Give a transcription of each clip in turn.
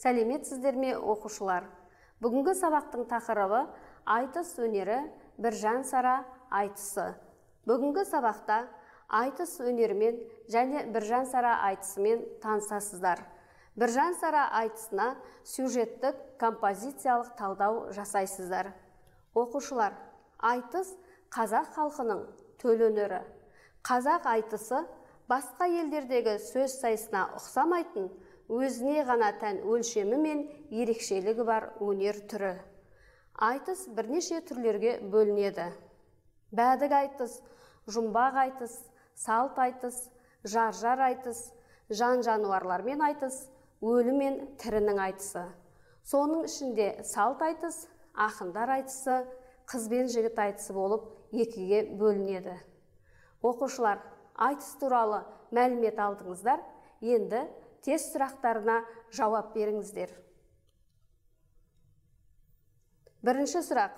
Сәлеметсіздер ме, оқушылар? Бүгінгі сабақтың тақырыбы айтыс өнері, Біржан Сара айтысы. Бүгінгі сабақта айтыс өнерімен және Біржан Сара айтысымен танысасыздар. Біржан Сара айтысына сюжеттік композициялық талдау жасайсыздар. Оқушылар, айтыс қазақ халқының төл өнері. Қазақ айтысы басқа елдердегі сөз сайысына ұқсамайтын, өзіне ғана тән өлшемі мен ерекшелігі бар өнер түрі. Айтыс бірнеше түрлерге бөлінеді. Бәдік айтыс, жұмбақ айтыс, салт айтыс, жар айтыс, жан-жануарлармен айтыс, өлі мен тірінің айтысы. Соның ішінде салт айтыс, ақындар айтысы, қыз бен жігіт айтысы болып екіге бөлінеді. Оқушылар, айтыс туралы мәлімет алдыңыздар, енді тест сұрақтарына жауап беріңіздер. Бірінші сұрақ.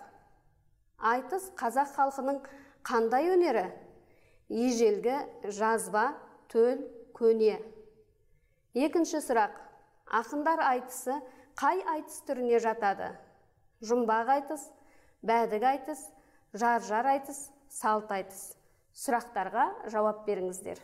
Айтыс қазақ халқының қандай өнері? Ежелгі, жазба, төл, көне. Екінші сұрақ. Ақындар айтысы қай айтыс түріне жатады? Жұмбақ айтыс, бәдік айтыс, жар айтыс, салт айтыс. Сұрақтарға жауап беріңіздер.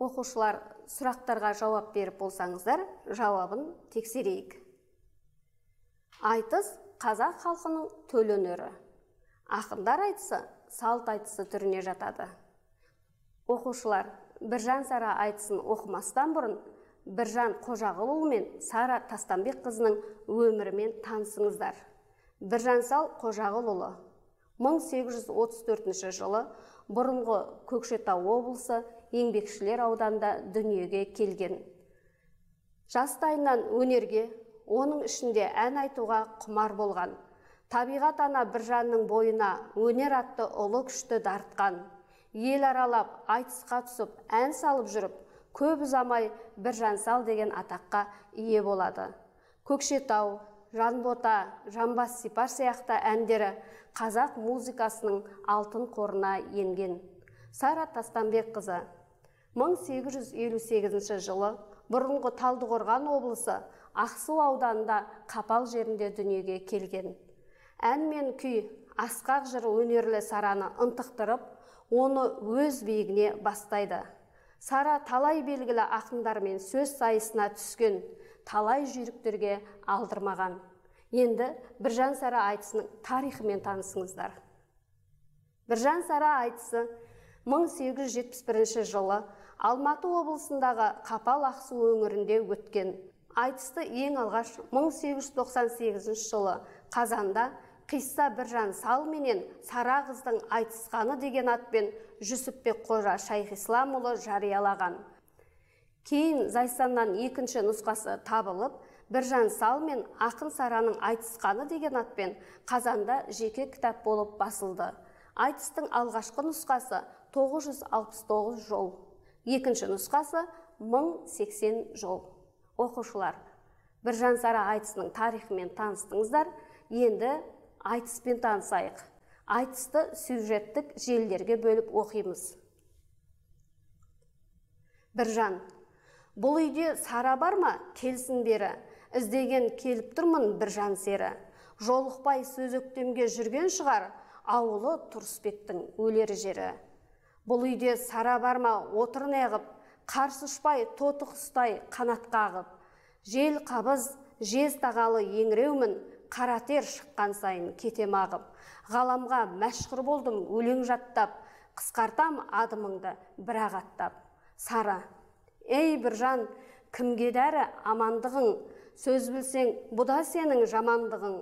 Оқушылар, сұрақтарға жауап беріп болсаңыздар, жауабын тексерейік. Айтыс қазақ халқының төл өнері. Ақындар айтысы салт айтысы түріне жатады. Оқушылар, Біржан Сара айтысын оқымастан бұрын Біржан Қожағұлұлы мен Сара Тастанбек қызының өмірімен танысыңыздар. Біржан Сал Қожағұлұлы 1834 жылы бұрынғы Көкшетау облысы Еңбекшілер ауданында дүниеге келген. Жастайынан өнерге, оның ішінде ән айтуға құмар болған. Табиғат ана Біржанның бойына өнер атты ұлы күшті дарытқан. Ел аралап, айтысқа түсіп, ән салып жүріп, көп ұзамай Біржан Сал деген атаққа ие болады. Көкшетау, Жанбота, Жамбас Сипар сияқты әндері қазақ музыкасының алтын қорына енген. Сара Тастанбек қызы 1858 жылы бұрынғы Талдықорған облысы Ақсу ауданында Қапал жерінде дүниеге келген. Ән мен күй, асқақ жыр өнерлі Сараны ынтықтырып, оны өз биігіне бастайды. Сара талай белгілі ақындармен сөз сайысына түскен, талай жүйріктерге алдырмаған. Енді Біржан Сара айтысының тарихымен танысыңыздар. Біржан Сара айтысы 1871 жылы Алматы облысындағы Қапал Ақсу өңірінде өткен. Айтысты ең алғаш 1898 жылы қазанда Қисса Біржан Сал менен Сара қыздың айтысқаны деген атпен Жүсіпбек Қожа Шайхисламұлы жариялаған. Кейін Зайсаннан екінші нұсқасы табылып, Біржан Сал мен ақын Сараның айтысқаны деген атпен қазанда жеке кітап болып басылды. Айтыстың алғашқы нұсқасы 969 жол, екінші нұсқасы 1080 жол. Оқушылар, Біржан Сара айтысының тарихымен таныстыңыздар, енді айтыспен танысайық. Айтысты сюжеттік желілерге бөліп оқимыз. Біржан: бұл үйде Сара бар ма? Келсін бері. Іздеген келіп тұрмын Біржан сері. Жолықпай сөз өктемге жүрген шығар, ауылы Тұрысбектің өлер жері. Бұл үйде Сара бар ма? Отыр неғып, қарсы ұшпай тоты құстай қанат қағып. Жел қабыз, жез тағалы еңіреумін, қаратер шыққан сайын кетем ағып. Ғаламға мәшһүр болдым өлең жаттап, қысқартам адымыңды бірақ аттап. Сара: ей Біржан, кімге дәрі амандығың? Сөз білсең, бұда сенің жамандығың.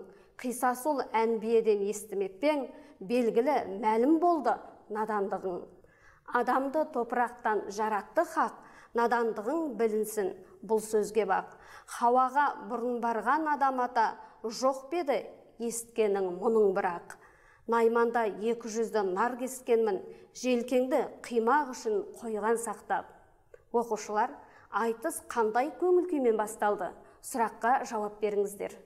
Қисасыл әнбиеден естімеппең, белгілі мәлім болды надандығың. Адамды топырақтан жаратты хақ, надандығың білінсін бұл сөзге бақ. Хауаға бұрын барған адам ата, жоқ беді есіткенің мұның бірақ. Найманда 200-ді нар кескенмін, желкеңді қимақ үшін қойған сақтап. Оқушылар, айтыс қандай көңіл күймен басталды? Сұраққа жауап беріңіздер.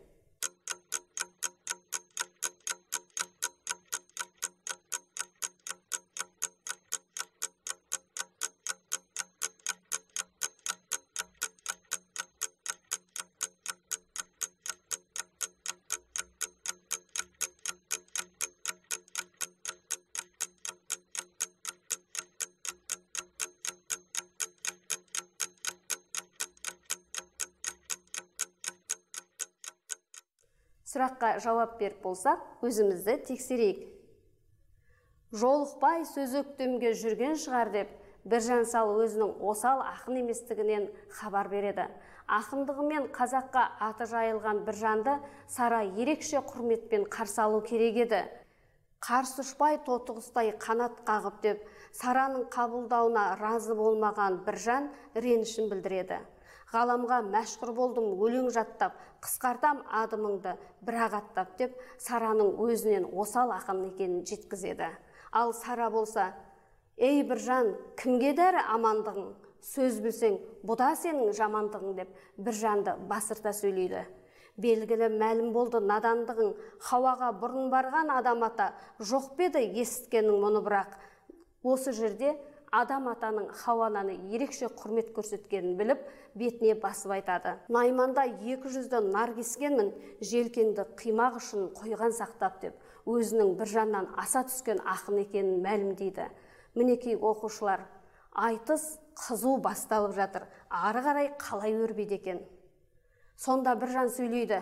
Сұраққа жауап беріп болсақ, өзімізді тексерейік. Жолықпай сөз өктемге жүрген шығар деп, Біржан Сал өзінің осал ақын еместігінен хабар береді. Ақындығымен қазаққа аты жайылған Біржанды Сара ерекше құрметпен қарсы алу керек еді. Қарсы ұшпай тотығыстай қанат қағып деп, Сараның қабылдауына разы болмаған Біржан ренішін білдіреді. Ғаламға мәшһүр болдым өлең жаттап, қысқартам адымыңды бірақ аттап деп, Сараның өзінен осал ақын екенін жеткізеді. Ал Сара болса, ей Біржан, кімге дәрі амандығың? Сөз білсең, бұда сенің жамандығың деп, Біржанды басырта сөйлейді. Белгілі мәлім болды надандығың, Хауаға бұрын барған адам ата, жоқ беді есіткенің мұны бірақ. Осы жерде адам атаның Хауананы ерекше құрмет көрсеткенін біліп, бетіне басып айтады. Найманда 200-ді нар кескенмін, желкеңді қимақ үшін қойған сақтап деп, өзінің Біржаннан аса түскен ақын екенін мәлімдейді. Мінекей оқушылар, айтыс қызу басталып жатыр, ары қарай қалай өрбиді екен. Сонда Біржан сөйлейді.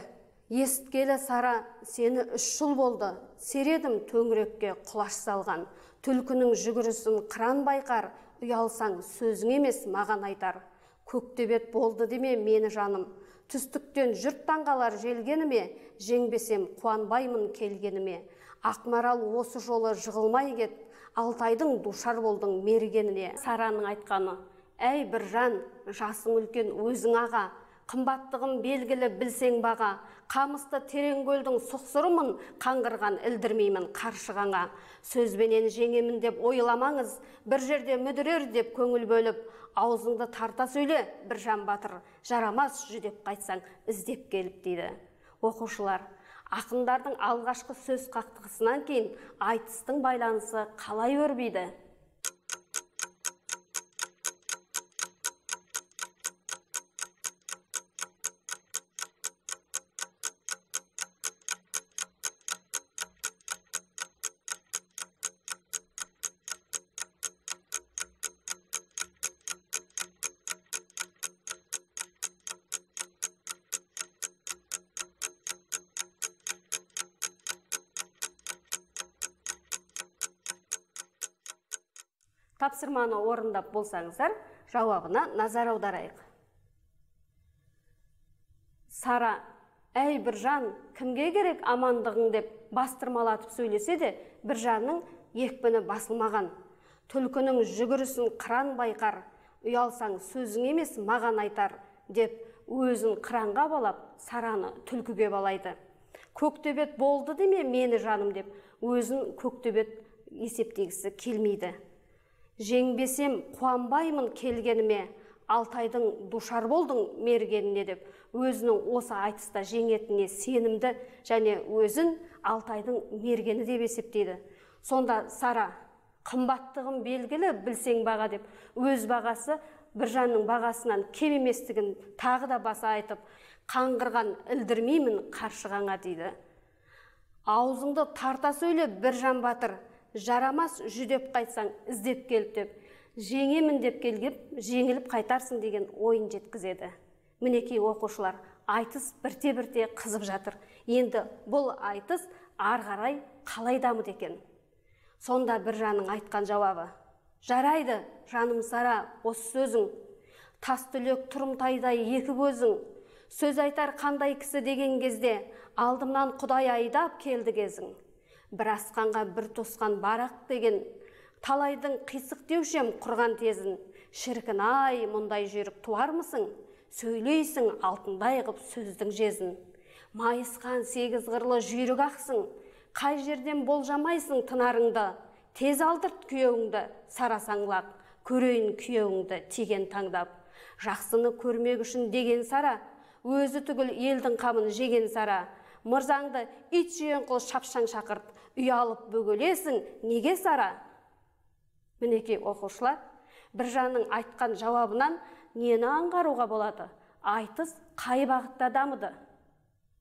Есіткелі Сара, сені 3 жыл болды, середім төңірекке құлаш салған. Түлкінің жүгірісін қыран байқар, ұялсаң сөзің емес маған айтар. Көктебет болды деме мені жаным, түстіктен жұрт таңғалар желгеніме, жеңбесем қуанбаймын келгеніме. Ақмарал осы жолы жығылмай кет, Алтайдың душар болдың мергеніне. Сараның айтқаны, әй Біржан, жасың үлкен өзің аға, қымбаттығым белгілі білсең баға, қамысты терең көлдің сұқсырымын, қаңғырған ілдірмеймін қаршығаңа. Сөзбенен жеңемін деп ойламаңыз, бір жерде мүдірер деп көңіл бөліп, аузыңды тарта сөйле, Біржан батыр, жарамас жүдеп қайтсаң, іздеп келіп дейді. Оқушылар, ақындардың алғашқы сөз қақтығысынан кейін айтыстың байланысы қалай өрбиді? Тапсырманы орындап болсаңыздар, жауабына назар аударайық. Сара, әй Біржан, кімге керек амандығың деп бастырмалатып сөйлесе де, Біржанның екпіні басылмаған. Түлкінің жүгірісін қыран байқар, ұялсаң сөзің емес маған айтар деп, өзін қыранға балап, Сараны түлкіге балайды. Көктөбет болды деме мені жаным деп, өзін көктөбет есептегісі келмейді. Жеңбесем қуанбаймын келгеніме, Алтайдың душар болдың мергеніне деп, өзінің осы айтыста жеңетіне сенімді және өзін Алтайдың мергені деп есептейді. Сонда Сара, қымбаттығым белгілі білсең баға деп, өз бағасы Біржанның бағасынан кем еместігін тағы да баса айтып, қаңғырған ілдірмеймін қаршығаңа дейді. Аузыңды тарта сөйле Біржан батыр, жарамас жүдеп қайтсаң іздеп келіп деп, жеңемін деп келгеп, жеңіліп қайтарсың деген ойын жеткізеді. Мінекей оқушылар, айтыс бірте-бірте қызып жатыр. Енді бұл айтыс ары қарай қалай дамыды екен? Сонда Біржанның айтқан жауабы: жарайды, жаным Сара, осы сөзің, тас түлек тұрымтайдай екі көзің, сөз айтар қандай кісі деген кезде, алдымнан Құдай айдап келді кезің. Бір асқанға бір тосқан барақ деген, талайдың қисық деушем құрған тезін, Шіркін-ай, мұндай жүйрік туармысың? Сөйлейсің алтындай қып сөздің жезін. Майысқан сегіз қырлы жүйрік ақсың. Қай жерден болжамайсың тынарыңды. Тез алдырт күйеуіңді, сарасаңлақ. Көрейін күйеуіңді теген таңдап. Жақсыны көрмек үшін деген сара. Өзі түгіл елдің қамын жеген сара. Мырзаңды ит жүйен қыл шапшаң шақырт. Ұялып бөгелесің, неге сара? Мінекей оқушылар, Біржанның айтқан жауабынан нені аңғаруға болады? Айтыс қай бағытта дамыды?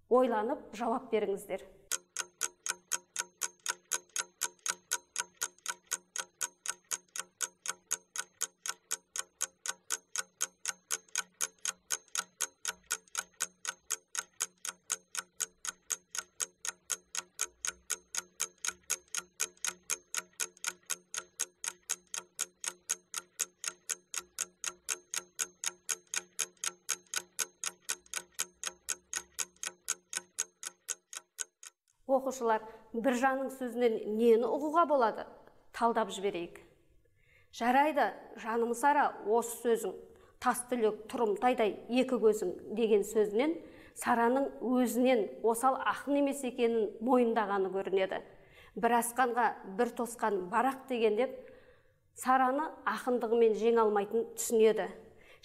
Ойланып жауап беріңіздер. Оқушылар, Біржанның сөзінен нені ұғуға болады? Талдап жіберейік. Жарайды, жаным сара, осы сөзің, тас түлек тұрымтайдай екі көзің деген сөзінен Сараның өзінен осал ақын емес екенін мойындағаны көрінеді. Бір асқанға бір тосқан барақ деген деп, Сараны ақындығымен жеңе алмайтын түсінеді.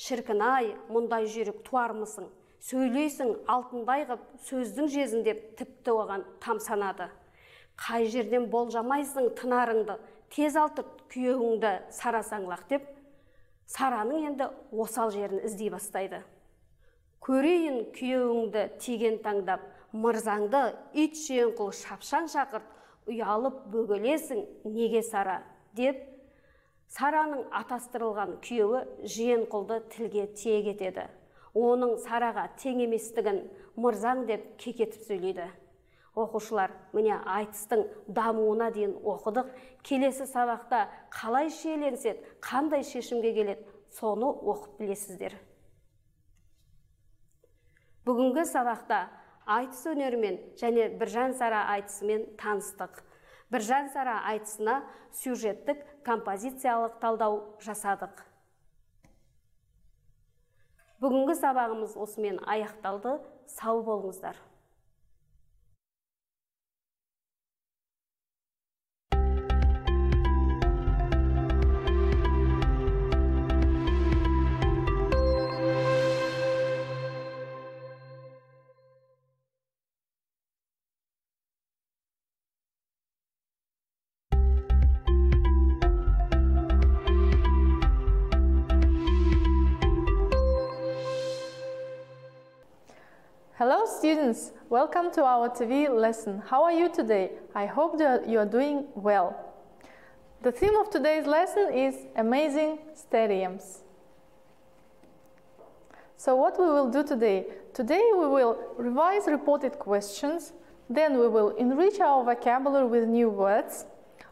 Шіркін-ай, мұндай жүйрік туармысың? Сөйлейсің алтындай қып сөздің жезін деп тіпті оған тамсанады. Қай жерден болжамайсың тынарыңды, тез алдырт күйеуіңді сарасаңлақ деп, Сараның енді осал жерін іздей бастайды. Көрейін күйеуіңді теген таңдап, мырзаңды ит жүйен қыл шапшаң шақырт, ұялып бөгелесің, неге сара деп, Сараның атастырылған күйеуі жүйен қылды тілге тиек етеді. Оның Сараға тең еместігін мырзаң деп кекетіп сөйлейді. Оқушылар, міне айтыстың дамуына дейін оқыдық. Келесі сабақта қалай шиеленсек, қандай шешімге келеді, соны оқып білесіздер. Бүгінгі сабақта айтыс өнерімен және Біржан Сара айтысымен таныстық. Біржан Сара айтысына сюжеттік композициялық талдау жасадық. Бүгінгі сабағымыз осымен аяқталды. Сау болыңыздар. Hello students, welcome to our TV lesson. How are you today? I hope that you are doing well. The theme of today's lesson is amazing stadiums. So what we will do today? Today we will revise reported questions, then we will enrich our vocabulary with new words.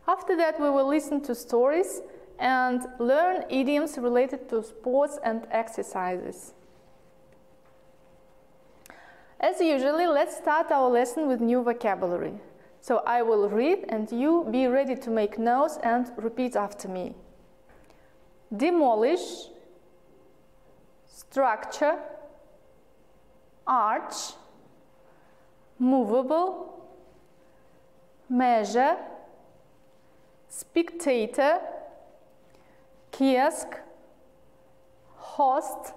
After that we will listen to stories and learn idioms related to sports and exercises. As usually, let's start our lesson with new vocabulary. So I will read and you be ready to make notes and repeat after me. Demolish, structure, arch, movable, measure, spectator, kiosk, host,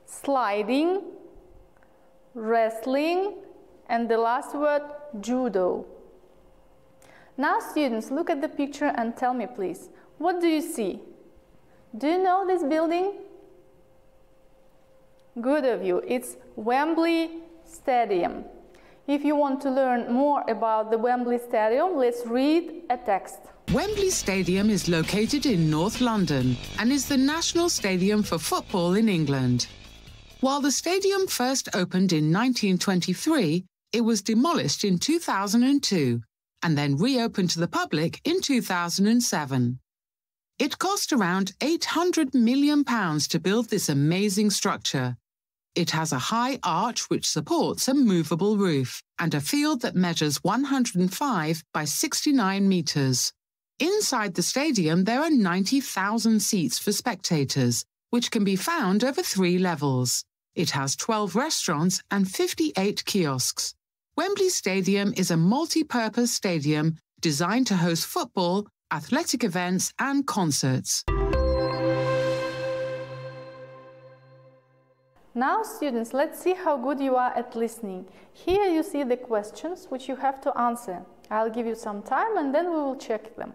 sliding, wrestling, and the last word, judo. Now students, look at the picture and tell me please, what do you see? Do you know this building? Good of you, it's Wembley Stadium. If you want to learn more about the Wembley Stadium, let's read a text. Wembley Stadium is located in North London and is the national stadium for football in England. While the stadium first opened in 1923, it was demolished in 2002 and then reopened to the public in 2007. It cost around £800 million to build this amazing structure. It has a high arch which supports a movable roof and a field that measures 105 by 69 metres. Inside the stadium, there are 90,000 seats for spectators, which can be found over 3 levels. It has 12 restaurants and 58 kiosks. Wembley Stadium is a multi-purpose stadium designed to host football, athletic events and concerts. Now, students, let's see how good you are at listening. Here you see the questions which you have to answer. I'll give you some time and then we will check them.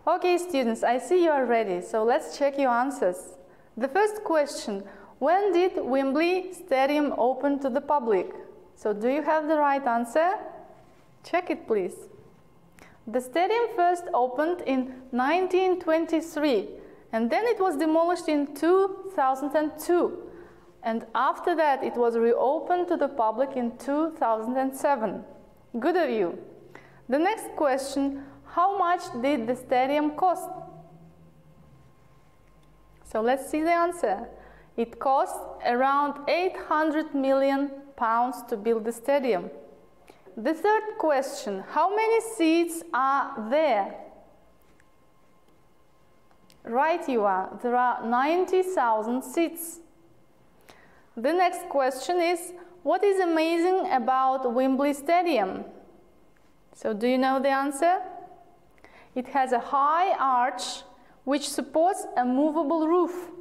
Okay, students, I see you are ready, so let's check your answers. The first question: when did Wembley Stadium open to the public? So do you have the right answer? Check it, please. The stadium first opened in 1923 and then it was demolished in 2002. And after that it was reopened to the public in 2007. Good of you. The next question: how much did the stadium cost? So let's see the answer. It cost around £800 million to build the stadium. The third question: how many seats are there? Right you are, there are 90,000 seats. The next question is: what is amazing about Wembley Stadium? So do you know the answer? It has a high arch which supports a movable roof.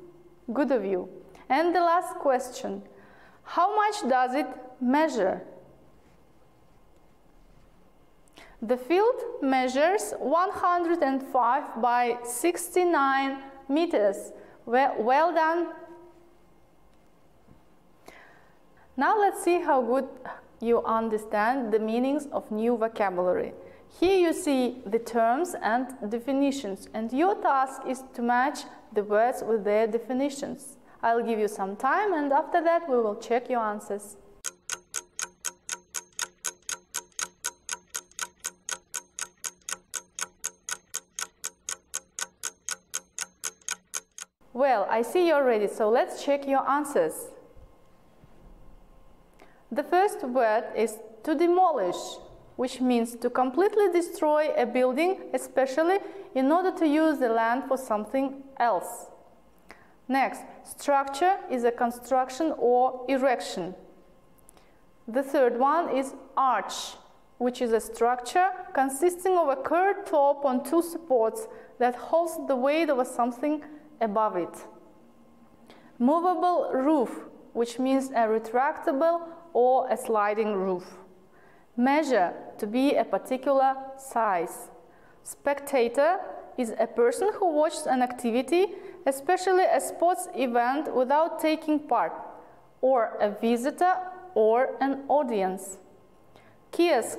Good of you. And the last question: how much does it measure? The field measures 105 by 69 meters. Well done. Now let's see how good you understand the meanings of new vocabulary. Here you see the terms and definitions, and your task is to match the words with their definitions. I'll give you some time, and after that we will check your answers. Well, I see you're ready, so let's check your answers. The first word is to demolish, which means to completely destroy a building, especially in order to use the land for something else. Next, structure is a construction or erection. The third one is arch, which is a structure consisting of a curved top on 2 supports that holds the weight of something above it. Movable roof, which means a retractable or a sliding roof. Measure, to be a particular size. Spectator is a person who watches an activity, especially a sports event, without taking part, or a visitor or an audience. Kiosk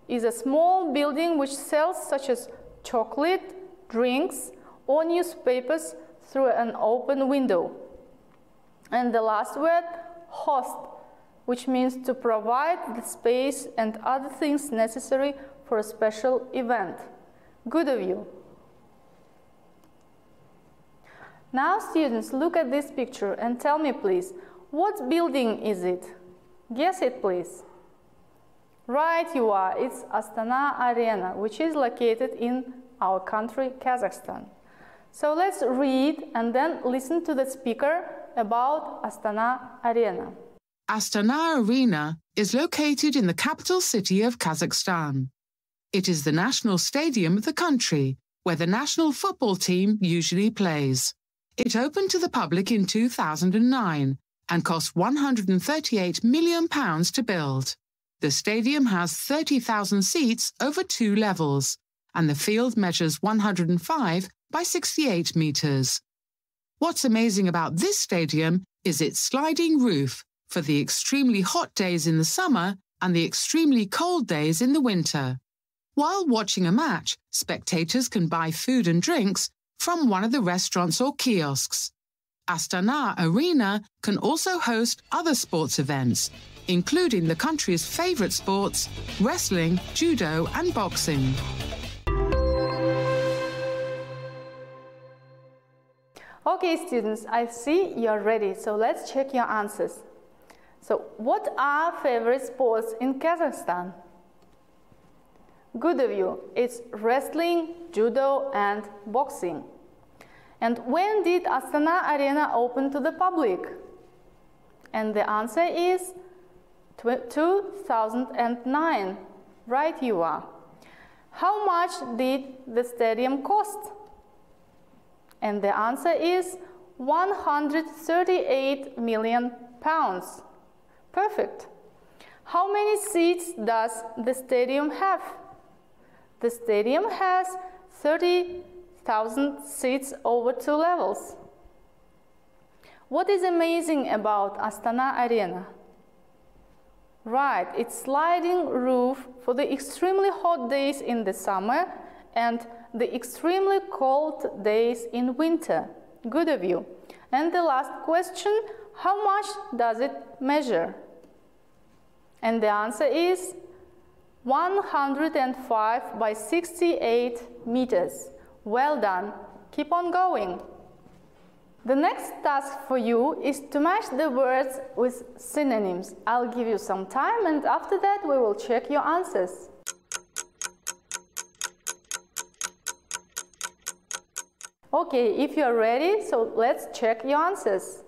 is a small building which sells such as chocolate, drinks, or newspapers through an open window. And the last word, host, which means to provide the space and other things necessary for a special event. Good of you. Now, students, look at this picture and tell me, please, what building is it? Guess it, please. Right you are, it's Astana Arena, which is located in our country, Kazakhstan. So let's read and then listen to the speaker about Astana Arena. Astana Arena is located in the capital city of Kazakhstan. It is the national stadium of the country, where the national football team usually plays. It opened to the public in 2009 and cost £138 million to build. The stadium has 30,000 seats over 2 levels, and the field measures 105 by 68 meters. What's amazing about this stadium is its sliding roof for the extremely hot days in the summer and the extremely cold days in the winter. While watching a match, spectators can buy food and drinks from one of the restaurants or kiosks. Astana Arena can also host other sports events, including the country's favorite sports, wrestling, judo and boxing. Okay, students, I see you're ready, so let's check your answers. So, what are favorite sports in Kazakhstan? Good of you. It's wrestling, judo, and boxing. And when did Astana Arena open to the public? And the answer is 2009. Right you are. How much did the stadium cost? And the answer is 138 million pounds. Perfect. How many seats does the stadium have? The stadium has 30,000 seats over 2 levels. What is amazing about Astana Arena? Right, it's sliding roof for the extremely hot days in the summer and the extremely cold days in winter. Good of you. And the last question, how much does it measure? And the answer is 105 by 68 meters. Well done. Keep on going. The next task for you is to match the words with synonyms. I'll give you some time and after that we will check your answers. Okay, if you're ready, so let's check your answers.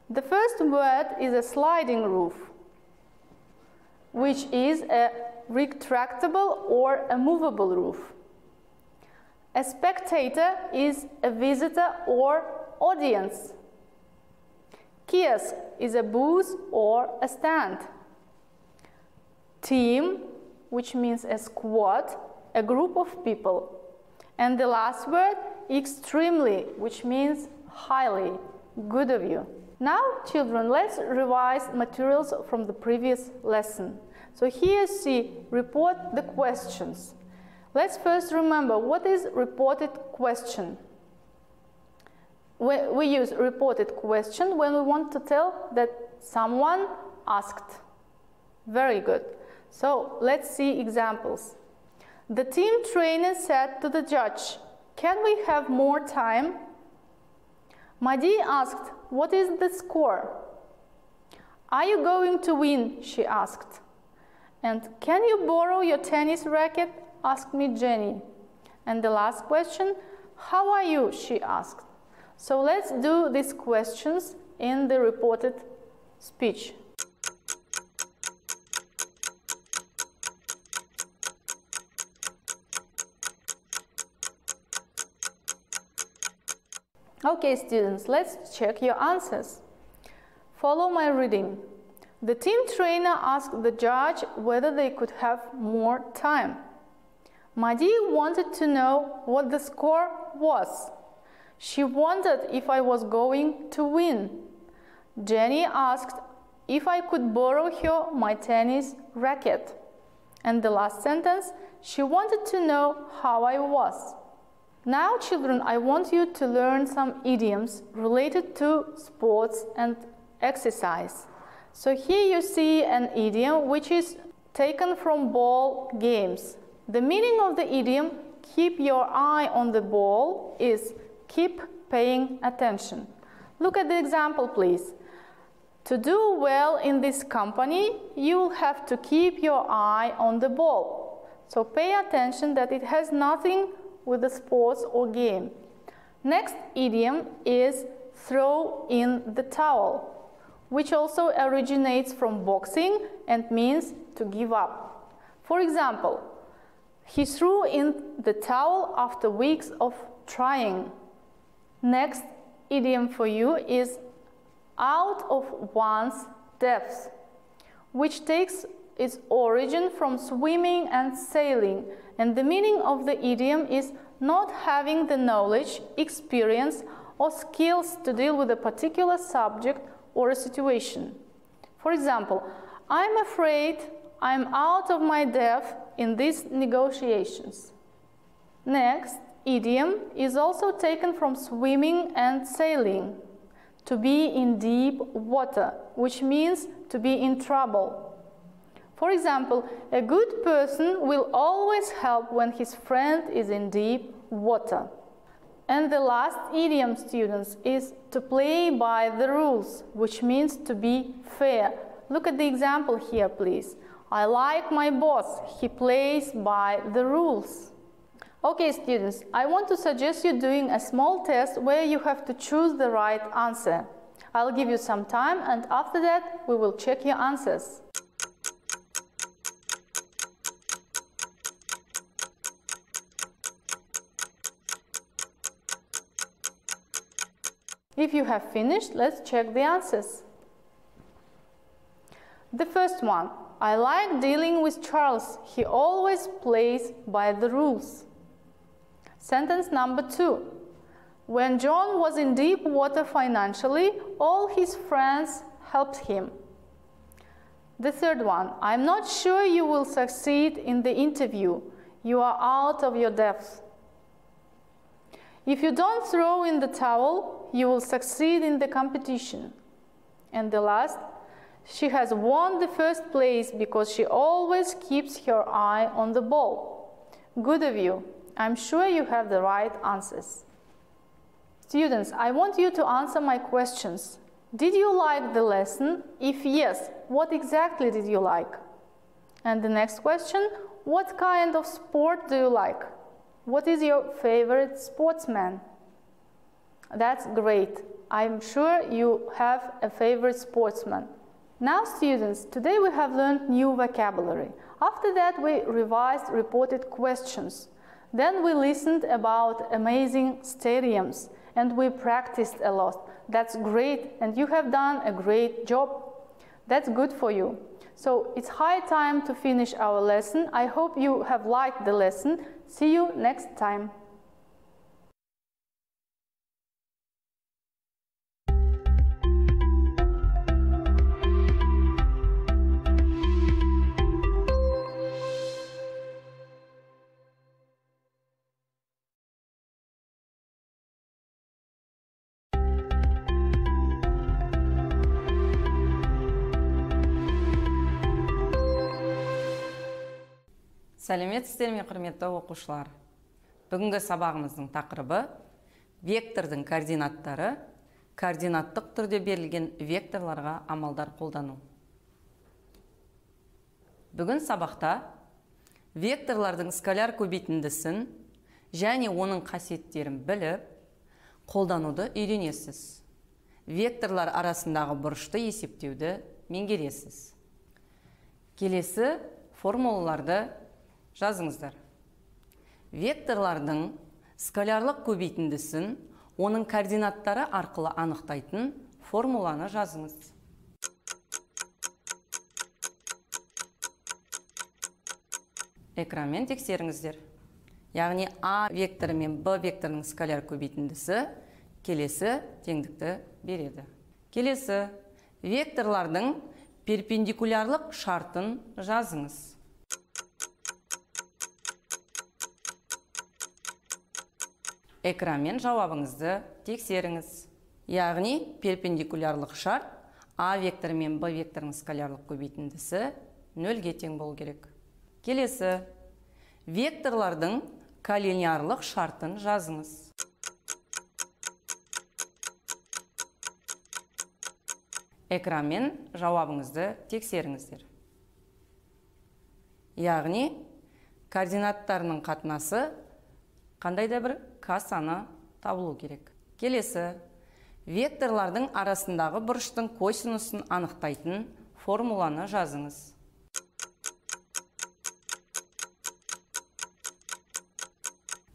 The first word is a sliding roof, which is a retractable or a movable roof. A spectator is a visitor or audience. Kiosk is a booth or a stand. Team, which means a squad, a group of people. And the last word, extremely, which means highly. Good of you. Now, children, let's revise materials from the previous lesson. So here you see, report the questions. Let's first remember, what is reported question? We use reported question when we want to tell that someone asked. Very good. So let's see examples. The team trainer said to the judge, "Can we have more time?" Madi asked, "What is the score?" "Are you going to win?" she asked. And "Can you borrow your tennis racket?" asked me Jenny. And the last question, "How are you?" she asked. So let's do these questions in the reported speech. Okay, students, let's check your answers. Follow my reading. The team trainer asked the judge whether they could have more time. Madi wanted to know what the score was. She wondered if I was going to win. Jenny asked if I could borrow her my tennis racket. And the last sentence, she wanted to know how I was. Now, children, I want you to learn some idioms related to sports and exercise. So here you see an idiom which is taken from ball games. The meaning of the idiom, keep your eye on the ball, is keep paying attention. Look at the example, please. To do well in this company, you'll have to keep your eye on the ball. So pay attention that it has nothing with the sports or game. Next idiom is throw in the towel, which also originates from boxing and means to give up. For example, he threw in the towel after weeks of trying. Next idiom for you is out of one's depth, which takes its origin from swimming and sailing, and the meaning of the idiom is not having the knowledge, experience, or skills to deal with a particular subject or a situation. For example, I'm afraid I'm out of my depth in these negotiations. Next idiom is also taken from swimming and sailing, to be in deep water, which means to be in trouble. For example, a good person will always help when his friend is in deep water. And the last idiom, students, is to play by the rules, which means to be fair. Look at the example here, please. I like my boss. He plays by the rules. Okay, students, I want to suggest you doing a small test where you have to choose the right answer. I'll give you some time, and after that, we will check your answers. If you have finished, let's check the answers. The first one, I like dealing with Charles. He always plays by the rules. Sentence number 2, when John was in deep water financially, all his friends helped him. The third one, I'm not sure you will succeed in the interview. You are out of your depth. If you don't throw in the towel, you will succeed in the competition. And the last, she has won the first place because she always keeps her eye on the ball. Good of you. I'm sure you have the right answers. Students, I want you to answer my questions. Did you like the lesson? If yes, what exactly did you like? And the next question, what kind of sport do you like? What is your favorite sportsman? That's great. I'm sure you have a favorite sportsman. Now, students, today we have learned new vocabulary. After that, we revised reported questions. Then we listened about amazing stadiums and we practiced a lot. That's great, and you have done a great job. That's good for you. So it's high time to finish our lesson. I hope you have liked the lesson. See you next time. Сәлеметсіздер ме, құрметті оқушылар? Бүгінгі сабағымыздың тақырыбы вектордың координаттары, координаттық түрде берілген векторларға амалдар қолдану. Бүгін сабақта векторлардың скаляр көбейтіндісін және оның қасиеттерін біліп, қолдануды үйренесіз. Векторлар арасындағы бұрышты есептеуді меңгересіз. Келесі формулаларды жазыңыздар. Векторлардың скалярлық көбейтіндісін оның координаттары арқылы анықтайтын формуланы жазыңыз. Экранмен тексеріңіздер. Яғни А векторы мен Б векторының скаляр көбейтіндісі келесі теңдікті береді. Келесі векторлардың перпендикулярлық шартын жазыңыз. Экранмен жауабыңызды тексеріңіз. Яғни перпендикулярлық шарт А векторы мен Б векторының скалярлық көбейтіндісі 0-ге тең болу керек. Келесі векторлардың коллинеарлық шартын жазыңыз. Экранмен жауабыңызды тексеріңіздер. Яғни координаттарының қатынасы қандай да бір К саны табылу керек. Келесі векторлардың арасындағы бұрыштың косинусын анықтайтын формуланы жазыңыз.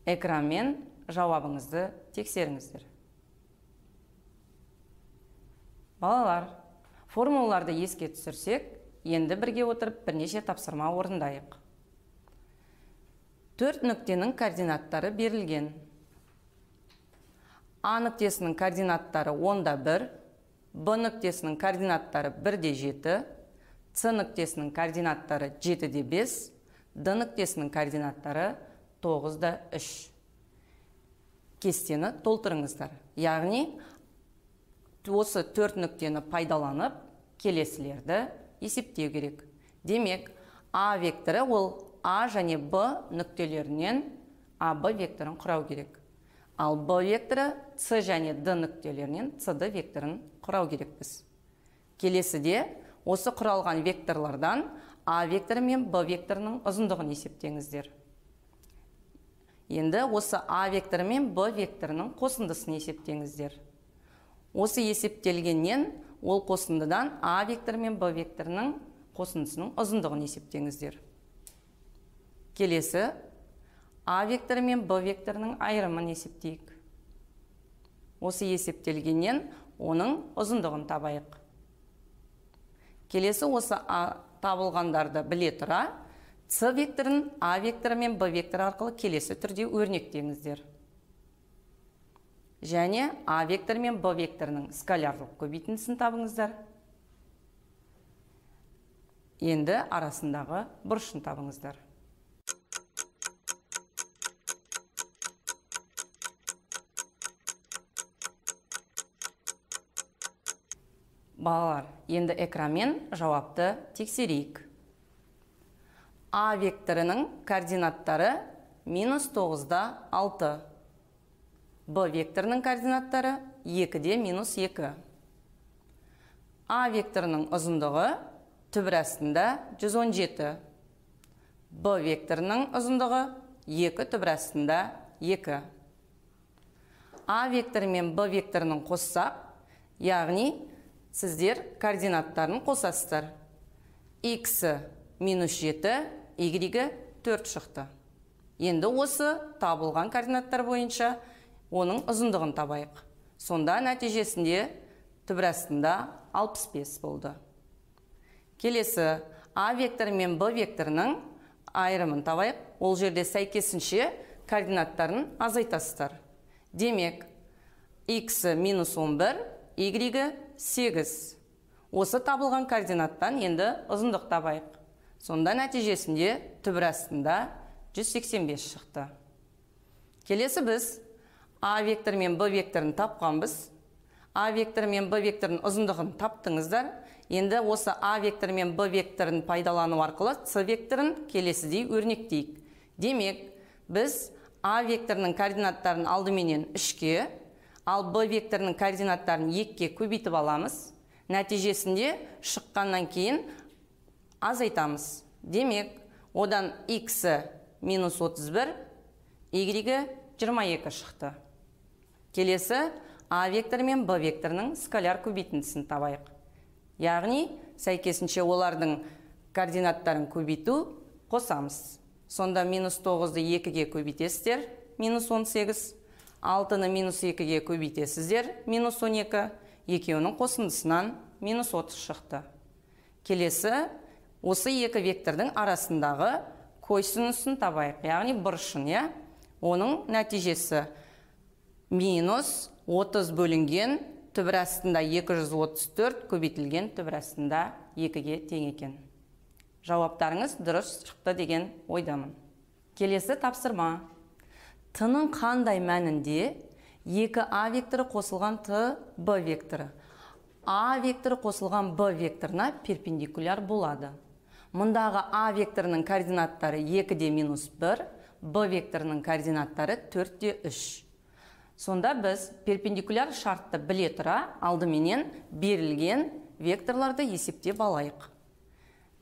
Экранмен жауабыңызды тексеріңіздер. Балалар, формулаларды еске түсірсек, енді бірге отырып бірнеше тапсырма орындайық. 4 нүктенің координаттары берілген. А нүктесінің координаттары 10-1, Б нүктесінің координаттары 1-7, С нүктесінің координаттары 7-5, Д нүктесінің координаттары 9-3. Кестені толтырыңыздар. Яғни, осы 4 нүктені пайдаланып, келесілерді есептеу керек. Демек, А векторы ол А және Б нүктелерінен АБ векторын құрау керек. Ал b векторы c және d нүктелерінен cd векторын құрау керекпіз. Келесіде осы құралған векторлардан a векторы мен b векторының ұзындығын есептеңіздер. Енді осы a векторы мен b векторының қосындысын есептеңіздер. Осы есептелгеннен ол қосындыдан a векторы мен b векторының қосындысының ұзындығын есептеңіздер. Келесі a векторы мен b векторының айырымын есептейік. Осы есептелгеннен оның ұзындығын табайық. Келесі осы табылғандарды біле тұра, c векторын a векторы мен b векторы арқылы келесі түрде өрнектеңіздер. Және a векторы мен b векторының скалярлық көбейтіндісін табыңыздар. Енді арасындағы бұрышын табыңыздар. Балалар, енді экранмен жауапты тексерейік. A векторының координаттары -9-да 6. B векторының координаттары 2-де -2. A векторының ұзындығы түбір астында 117. B векторының ұзындығы 2 түбір астында 2. A векторы мен B векторының қоссақ, яғни сіздер координаттарын қосасыздар. X -7, Y 4 шықты. Енді осы табылған координаттар бойынша оның ұзындығын табайық. Сонда нәтижесінде түбір астында 65 болды. Келесі A векторы мен B векторының айырымын табайық. Ол жерде сәйкесінше координаттарын азайтасыздар. Демек, X -11, Y 8. Осы табылған координаттан енді ұзындық табайық. Сонда нәтижесінде түбір астында 185 шықты. Келесі біз A векторы мен B векторын тапқанбыз. A векторы мен B векторының ұзындығын таптыңыздар. Енді осы A векторы мен B векторын пайдалану арқылы C векторын келесідей өрнектейік. Демек, біз A векторының координаттарын алдыменен 3-ке, ал B векторының координаттарын 2-ке көбейтіп аламыз. Нәтижесінде шыққаннан кейін азайтамыз. Демек, одан X -31, Y 22 шықты. Келесі A векторы мен B векторының скаляр көбейтіндісін табайық. Яғни, сәйкесінше олардың координаттарын көбейту қосамыз. Сонда -9-ды 2-ге көбейтесіздер, -18, 6-ны -2-ге көбейтесіздер, -12, екеуінің қосындысынан -30 шықты. Келесі, осы екі вектордың арасындағы косинусын табайық, яғни бұрышын, оның нәтижесі -30 бөлінген түбір астында 234 көбейтілген түбір астында 2-ге тең екен. Жауаптарыңыз дұрыс шықты деген ойдамын. Келесі тапсырма. Т-ның қандай мәнінде 2A векторы қосылған Т, Б векторы A векторы қосылған Б векторына перпендикуляр болады. Мұндағы A векторының координаттары 2-де -1, Б векторының координаттары 4-де 3. Сонда біз перпендикуляр шартты біле тұра алдыменен берілген векторларды есептеп алайық.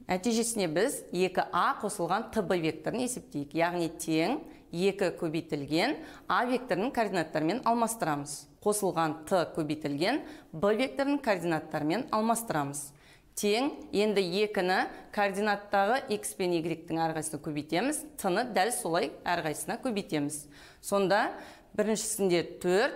Нәтижесіне біз 2A қосылған ТБ векторын есептейік. Яғни тең 2 көбейтілген A векторының координаттарымен алмастырамыз. Қосылған Т көбейтілген Б векторының координаттарымен алмастырамыз. Тең енді 2-ні координаттағы X пен Y-тің әрқайсына көбейтеміз. Т-ны дәл солай әрқайсына көбейтеміз. Сонда біріншісінде 4,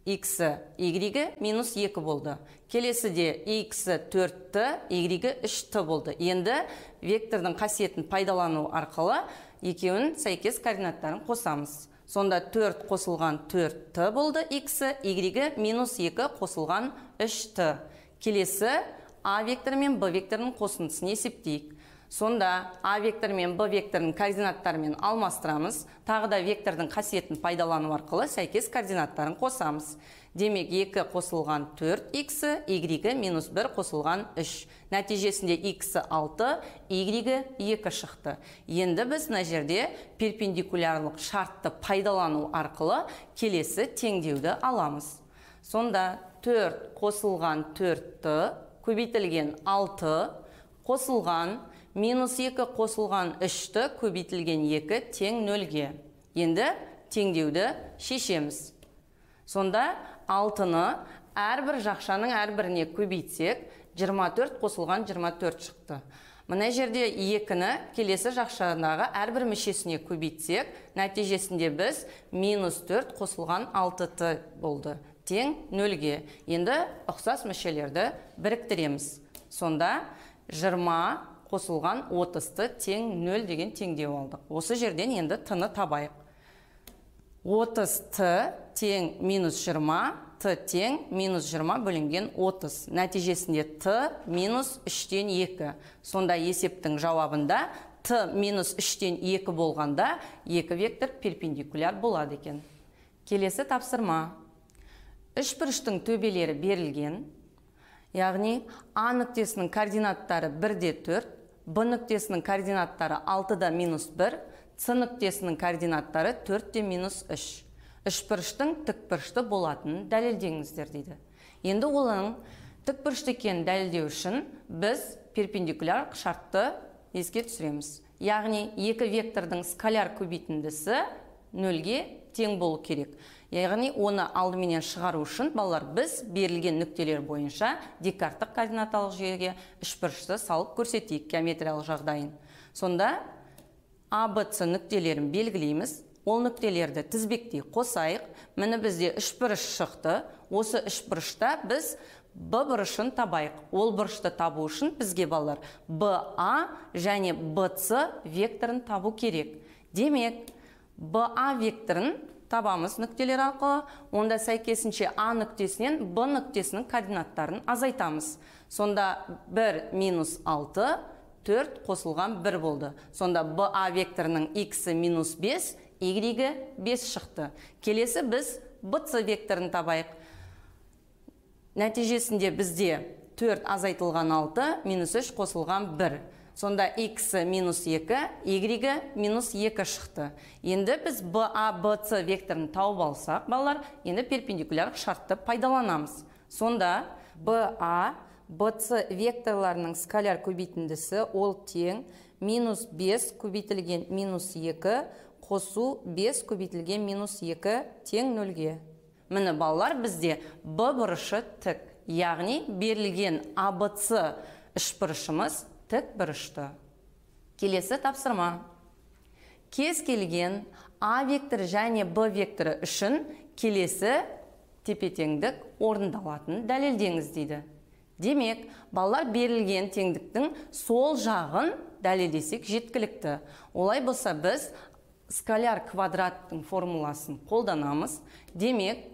X, Y -2 болды. Келесіде X 4-ті, Y 3-ті болды. Енді вектордың қасиетін пайдалану арқылы екеуін сәйкес координаттарын қосамыз. Сонда 4 қосылған 4-ті болды X, Y -2 қосылған 3-ті. Келесі A векторы мен B векторының қосындысын есептейік. Сонда А вектор мен Б векторының координаттарымен алмастырамыз, тағы да вектордың қасиетін пайдалану арқылы сәйкес координаттарын қосамыз. Демек 2 қосылған 4х, y минус 1 қосылған 3. Нәтижесінде x 6, y 2 шықты. Енді біз мына жерде перпендикулярлық шартты пайдалану арқылы келесі теңдеуді аламыз. Сонда 4 қосылған 4-ті көбейтілген 6 қосылған минус 2 қосылған 3-ті көбейтілген 2 тең 0-ге. Енді теңдеуді шешеміз. Сонда 6-ны әрбір жақшаның әрбіріне көбейтсек, 24 қосылған 24 шықты. Мына жерде 2-ні келесі жақшадағы әрбір мүшесіне көбейтсек, нәтижесінде біз минус 4 қосылған 6-ті болды. Тең 0-ге. Енді ұқсас мүшелерді біріктіреміз. Сонда 20 қосылған 30-ті тең 0 деген теңдеу алдық. Осы жерден енді т-ны табайық. 30-ті тең минус 20, т тең минус 20 бөлінген 30. Нәтижесінде т минус 3-тен 2. Сонда есептің жауабында т минус 3-тен 2 болғанда 2 вектор перпендикуляр болады екен. Келесі тапсырма. Үшбұрыштың төбелері берілген. Яғни А нүктесінің координаттары 1-де 4, Б нүктесінің координаттары 6-да минус 1, С нүктесінің координаттары 4-де минус 3. Үшбұрыштың тікбұрышты болатынын дәлелдеңіздер дейді. Енді олың тікбұрышты екенін дәлелдеу үшін біз перпендикуляр шартты еске түсіреміз. Яғни 2 вектордың скаляр көбейтіндісі 0-ге тең болу керек. Яғни оны алдыменен шығару үшін балалар біз берілген нүктелер бойынша декарттық координаталық жүйеге үшбұрышты салып көрсетейік геометриялық жағдайын. Сонда А, Б, С нүктелерін белгілейміз. Ол нүктелерді тізбектей қосайық. Міне бізде үшбұрыш шықты. Осы үшбұрышта біз Б бұрышын табайық. Ол бұрышты табу үшін бізге балалар БА және БС векторын табу керек. Демек, БА векторын табамыз нүктелер арқылы, онда сәйкесінше А нүктесінен Б нүктесінің координаттарын азайтамыз. Сонда 1 минус 6, 4 қосылған 1 болды. Сонда БА векторының x минус 5, y 5 шықты. Келесі біз БС векторын табайық. Нәтижесінде бізде 4 азайтылған 6, минус 3 қосылған 1. Сонда x минус 2, y минус 2 шықты. Енді біз БА, БС векторын тауып алсақ, балалар, енді перпендикуляр шартты пайдаланамыз. Сонда БА, БС векторларының скаляр көбейтіндісі ол тең минус 5 көбейтілген минус 2 қосу 5 көбейтілген минус 2 тең 0-ге. Міне балалар бізде Б бұрышы тік. Яғни берілген АБС үшбұрышымыз тік бұрышты. Келесі тапсырма. Кез келген А векторы және Б векторы үшін келесі тепе-теңдік орындалатын дәлелдеңіз дейді. Демек, балалар берілген теңдіктің сол жағын дәлелдесек жеткілікті. Олай болса біз скаляр квадраттың формуласын қолданамыз. Демек,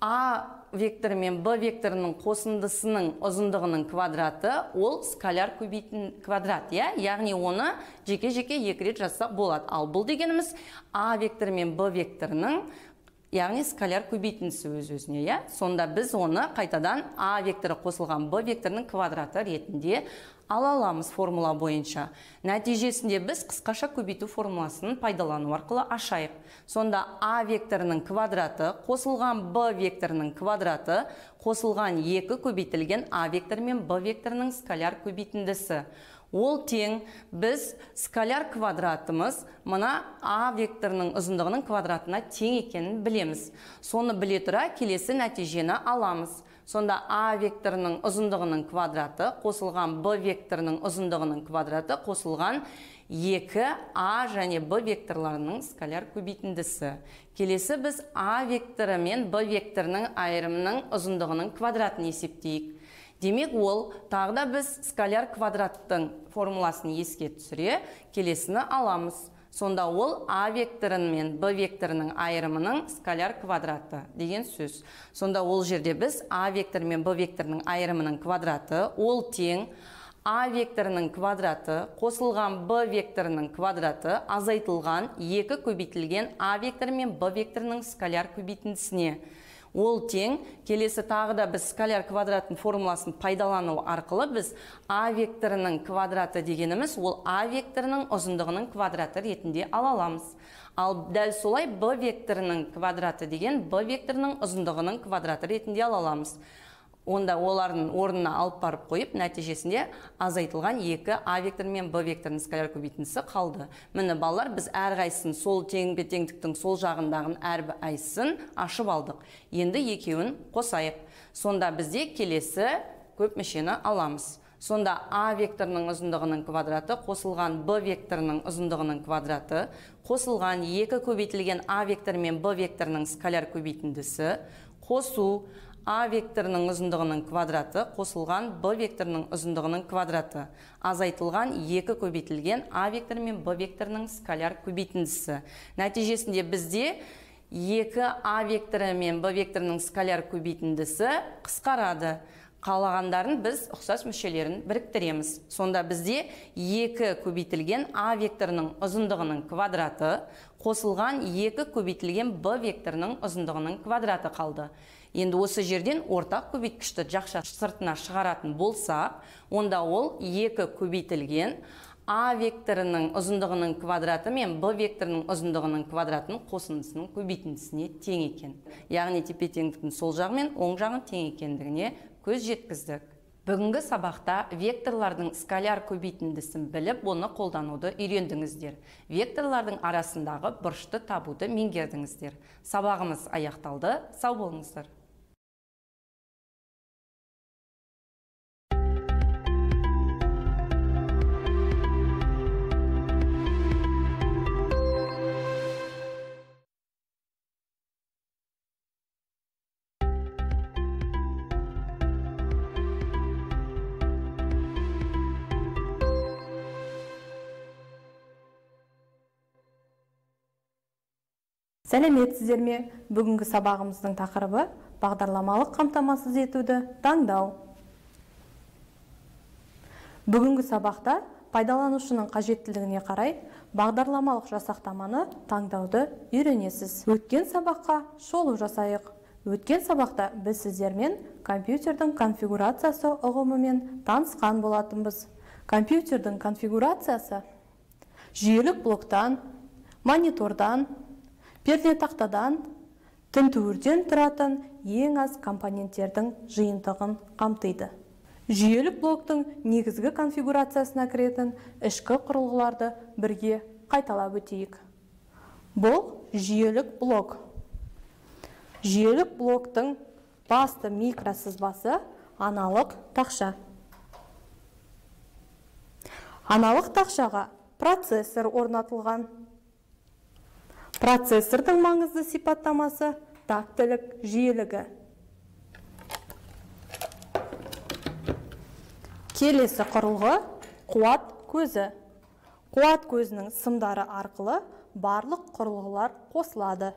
А векторы мен Б векторының қосындысының ұзындығының квадраты ол скаляр көбейтін квадрат. Яғни оны жеке-жеке 2 рет жазсақ болады. Ал бұл дегеніміз А векторы мен Б векторының яғни скаляр көбейтіндісі өз-өзіне. Сонда біз оны қайтадан А векторы қосылған Б векторының квадраты ретінде ала аламыз формула бойынша. Нәтижесінде біз қысқаша көбейту формуласын пайдалану арқылы ашайық. Сонда А векторының квадраты қосылған Б векторының квадраты қосылған 2 көбейтілген А векторы мен Б векторының скаляр көбейтіндісі. Ол тең біз скаляр квадратымыз мына А векторының ұзындығының квадратына тең екенін білеміз. Соны біле тұра келесі нәтижені аламыз. Сонда А векторының ұзындығының квадраты қосылған Б векторының ұзындығының квадраты қосылған 2 А және Б векторларының скаляр көбейтіндісі. Келесі біз А векторы мен Б векторының айырымының ұзындығының квадратын есептейік. Демек ол тағда біз скаляр квадраттың формуласын еске түсіре келесіні аламыз. Сонда ол А векторын мен Б векторының айырымының скаляр квадраты деген сөз. Сонда ол жерде біз А вектор мен Б векторының айырымының квадраты ол тең А векторының квадраты қосылған Б векторының квадраты азайтылған 2 көбейтілген А векторы мен Б векторының скаляр көбейтіндісіне. Ол тең, келесі тағы да біз скаляр квадраттың формуласын пайдалану арқылы біз А векторының квадраты дегеніміз, ол А векторының ұзындығының квадраты ретінде ала аламыз. Ал дәл солай Б векторының квадраты деген Б векторының ұзындығының квадраты ретінде ала аламыз. Онда олардың орнына алып барып қойып, нәтижесінде азайтылған 2 А вектор мен Б векторының скаляр көбейтіндісі қалды. Міне балалар, біз әрқайсысын сол теңбе-теңдіктің сол жағындағын әрқайсысын ашып алдық. Енді екеуін қосайық. Сонда бізде келесі көп мүшені аламыз. Сонда А векторының ұзындығының квадраты қосылған Б векторының ұзындығының квадраты қосылған 2 көбейтілген А вектор мен Б векторының скаляр көбейтіндісі қосу А векторының ұзындығының квадраты қосылған Б векторының ұзындығының квадраты азайтылған 2 көбейтілген А вектор мен Б векторының скаляр көбейтіндісі. Нәтижесінде бізде 2 А векторы мен Б векторының скаляр көбейтіндісі қысқарады. Қалағандарын біз ұқсас мүшелерін біріктіреміз. Сонда бізде 2 көбейтілген А векторының ұзындығының квадраты қосылған 2 көбейтілген Б векторының ұзындығының квадраты қалды. Енді осы жерден ортақ көбейткішті жақша сыртына шығаратын болсақ, онда ол 2 көбейтілген А векторының ұзындығының квадраты мен Б векторының ұзындығының квадратының қосындысының көбейтіндісіне тең екен. Яғни тепе-теңдіктің сол жағы мен оң жағын тең екендігіне көз жеткіздік. Бүгінгі сабақта векторлардың скаляр көбейтіндісін біліп, оны қолдануды үйрендіңіздер. Векторлардың арасындағы бұрышты табуды меңгердіңіздер. Сабағымыз аяқталды. Сау болыңыздар. Сәлеметсіздер ме? Бүгінгі сабағымыздың тақырыбы бағдарламалық қамтамасыз етуді таңдау. Бүгінгі сабақта пайдаланушының қажеттілігіне қарай бағдарламалық жасақтаманы таңдауды үйренесіз. Өткен сабаққа шолу жасайық. Өткен сабақта біз сіздермен компьютердің конфигурациясы ұғымымен танысқан болатынбыз. Компьютердің конфигурациясы жүйелік блоктан, монитордан, пернетақтадан, тінтуірден тұратын ең аз компоненттердің жиынтығын қамтиды. Жүйелік блоктың негізгі конфигурациясына кіретін ішкі құрылғыларды бірге қайталап өтейік. Бұл жүйелік блок. Жүйелік блоктың басты микросызбасы аналық тақша. Аналық тақшаға процессор орнатылған. Процессордың маңызды сипаттамасы тактілік жиілігі. Келесі құрылғы қуат көзі. Қуат көзінің сымдары арқылы барлық құрылғылар қосылады.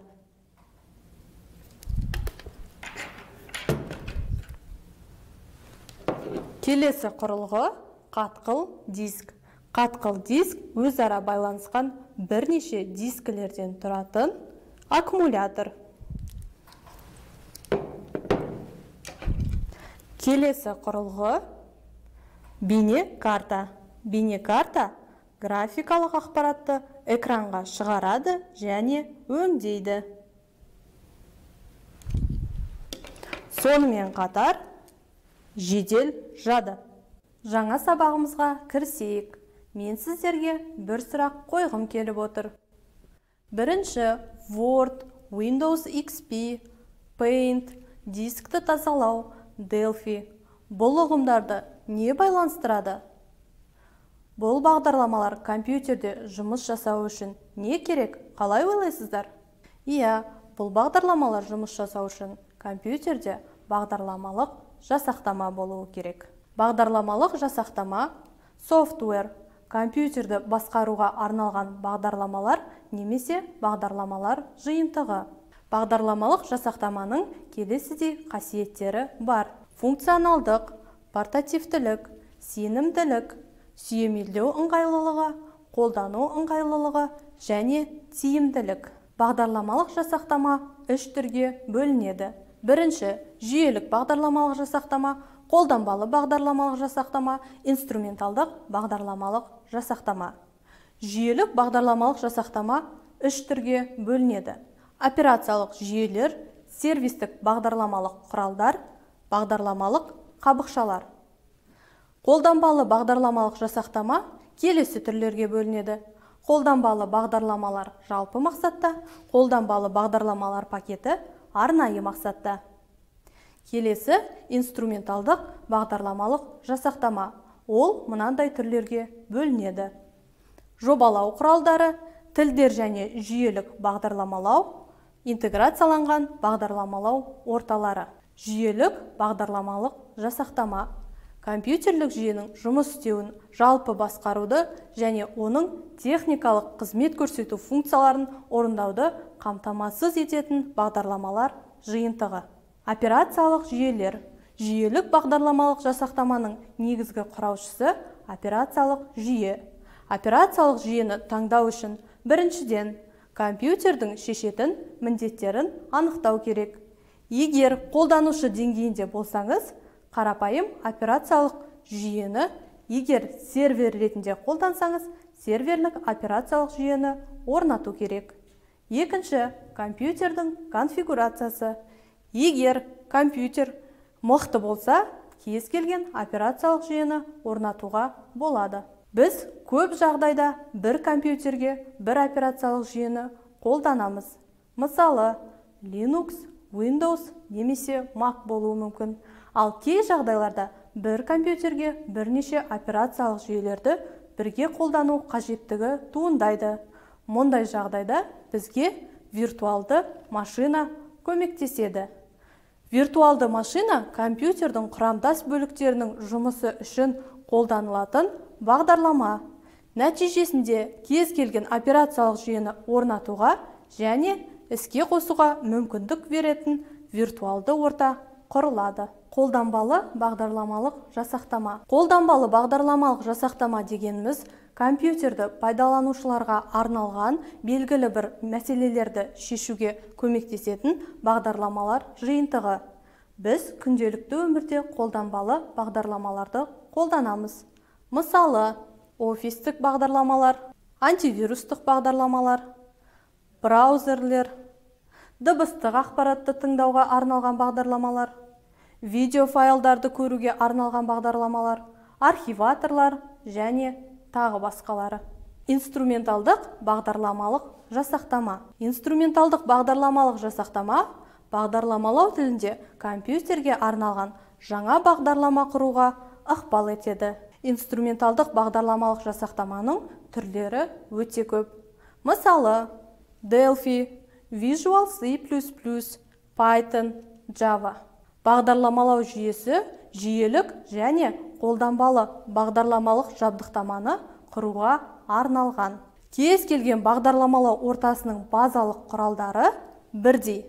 Келесі құрылғы қатқыл диск. Қатқыл диск өзара байланысқан бірнеше дискілерден тұратын аккумулятор. Келесі құрылғы бейне карта. Бейне карта графикалық ақпаратты экранға шығарады және өңдейді. Сонымен қатар жедел жады. Жаңа сабағымызға кірісейік. Мен сіздерге бір сұрақ қойғым келіп отыр. Бірінші, Word, Windows XP, Paint, дискті тазалау, Delphi. Бұл ұғымдарды не байланыстырады? Бұл бағдарламалар компьютерде жұмыс жасау үшін не керек? Қалай ойлайсыздар? Иә, бұл бағдарламалар жұмыс жасау үшін компьютерде бағдарламалық жасақтама болуы керек. Бағдарламалық жасақтама, software, компьютерді басқаруға арналған бағдарламалар немесе бағдарламалар жиынтығы. Бағдарламалық жасақтаманың келесідей қасиеттері бар. Функционалдық, портативтілік, сенімділік, сүйемелдеу ыңғайлылығы, қолдану ыңғайлылығы және тиімділік. Бағдарламалық жасақтама 3 түрге бөлінеді. Бірінші, жүйелік бағдарламалық жасақтама, қолданбалы бағдарламалық жасақтама, инструменталдық бағдарламалық жасақтама. Жүйелік бағдарламалық жасақтама 3 түрге бөлінеді. Операциялық жүйелер, сервистік бағдарламалық құралдар, бағдарламалық қабықшалар. Қолданбалы бағдарламалық жасақтама келесі түрлерге бөлінеді. Қолданбалы бағдарламалар жалпы мақсатта, қолданбалы бағдарламалар пакеті арнайы мақсатта. Келесі инструменталдық бағдарламалық жасақтама. Ол мынандай түрлерге бөлінеді. Жобалау құралдары, тілдер және жүйелік бағдарламалау, интеграцияланған бағдарламалау орталары. Жүйелік бағдарламалық жасақтама. Компьютерлік жүйенің жұмыс істеуін, жалпы басқаруды және оның техникалық қызмет көрсету функцияларын орындауды қамтамасыз ететін бағдарламалар жиынтығы. Операциялық жүйелер. Жүйелік бағдарламалық жасақтаманың негізгі құраушысы операциялық жүйе. Операциялық жүйені таңдау үшін біріншіден компьютердің шешетін міндеттерін анықтау керек. Егер қолданушы деңгейінде болсаңыз, қарапайым операциялық жүйені, егер сервер ретінде қолдансаңыз, серверлік операциялық жүйені орнату керек. Екінші, компьютердің конфигурациясы. Егер компьютер мықты болса, кез келген операциялық жүйені орнатуға болады. Біз көп жағдайда бір компьютерге бір операциялық жүйені қолданамыз. Мысалы, Linux, Windows немесе Mac болуы мүмкін. Ал кей жағдайларда бір компьютерге бірнеше операциялық жүйелерді бірге қолдану қажеттігі туындайды. Мұндай жағдайда бізге виртуалды машина көмектеседі. Виртуалды машина компьютердің құрамдас бөліктерінің жұмысы үшін қолданылатын бағдарлама. Нәтижесінде кез келген операциялық жүйені орнатуға және іске қосуға мүмкіндік беретін виртуалды орта құрылады. Қолданбалы бағдарламалық жасақтама. Қолданбалы бағдарламалық жасақтама дегеніміз компьютерді пайдаланушыларға арналған белгілі бір мәселелерді шешуге көмектесетін бағдарламалар жиынтығы. Біз күнделікті өмірде қолданбалы бағдарламаларды қолданамыз. Мысалы, офистік бағдарламалар, антивирустық бағдарламалар, браузерлер, дыбыстық ақпаратты тыңдауға арналған бағдарламалар, видео файлдарды көруге арналған бағдарламалар, архиваторлар және тағы басқалары. Инструменталдық бағдарламалық жасақтама. Инструменталдық бағдарламалық жасақтама бағдарламалау тілінде компьютерге арналған жаңа бағдарлама құруға ықпал етеді. Инструменталдық бағдарламалық жасақтаманың түрлері өте көп. Мысалы, Delphi, Visual C++, Python, Java. Бағдарламалау жүйесі жүйелік және қолданбалы бағдарламалық жабдықтаманы құруға арналған. Кез келген бағдарламалау ортасының базалық құралдары бірдей.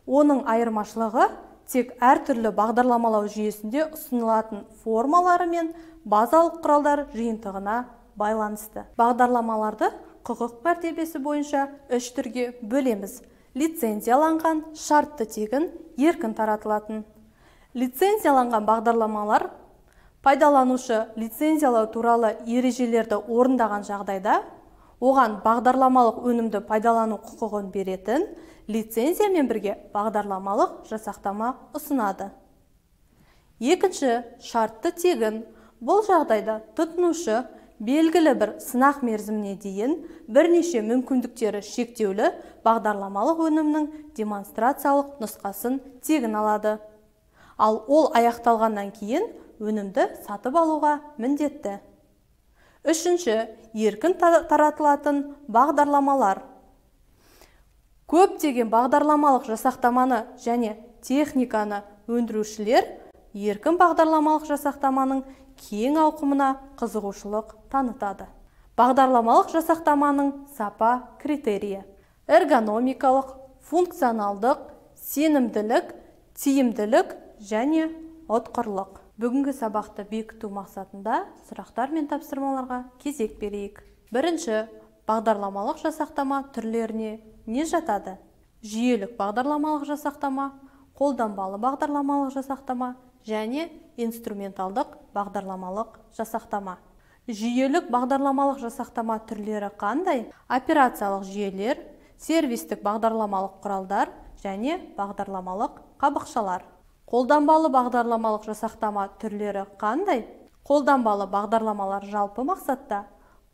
Оның айырмашылығы тек әртүрлі бағдарламалау жүйесінде ұсынылатын формалары мен базалық құралдар жиынтығына байланысты. Бағдарламаларды құқық мәртебесі бойынша 3 түрге бөлеміз. Лицензияланған, шартты тегін, еркін таратылатын. Лицензияланған бағдарламалар пайдаланушы лицензиялау туралы ережелерді орындаған жағдайда, оған бағдарламалық өнімді пайдалану құқығын беретін лицензиямен бірге бағдарламалық жасақтама ұсынады. Екінші, шартты тегін. Бұл жағдайда тұтынушы белгілі бір сынақ мерзіміне дейін бірнеше мүмкіндіктері шектеулі бағдарламалық өнімнің демонстрациялық нұсқасын тегін алады. Ал ол аяқталғаннан кейін өнімді сатып алуға міндетті. Үшінші, еркін таратылатын бағдарламалар. Көптеген бағдарламалық жасақтаманы және техниканы өндірушілер еркін бағдарламалық жасақтаманың кең ауқымына қызығушылық танытады. Бағдарламалық жасақтаманың сапа критерийі: эргономикалық, функционалдық, сенімділік, тиімділік және ұтқырлық. Бүгінгі сабақты бекіту мақсатында сұрақтар мен тапсырмаларға кезек берейік. Бірінші, бағдарламалық жасақтама түрлеріне не жатады? Жүйелік бағдарламалық жасақтама, қолданбалы бағдарламалық жасақтама және инструменталдық бағдарламалық жасақтама. Жүйелік бағдарламалық жасақтама түрлері қандай? Операциялық жүйелер, сервистік бағдарламалық құралдар және бағдарламалық қабықшалар. Қолданбалы бағдарламалық жасақтама түрлері қандай? Қолданбалы бағдарламалар жалпы мақсатта,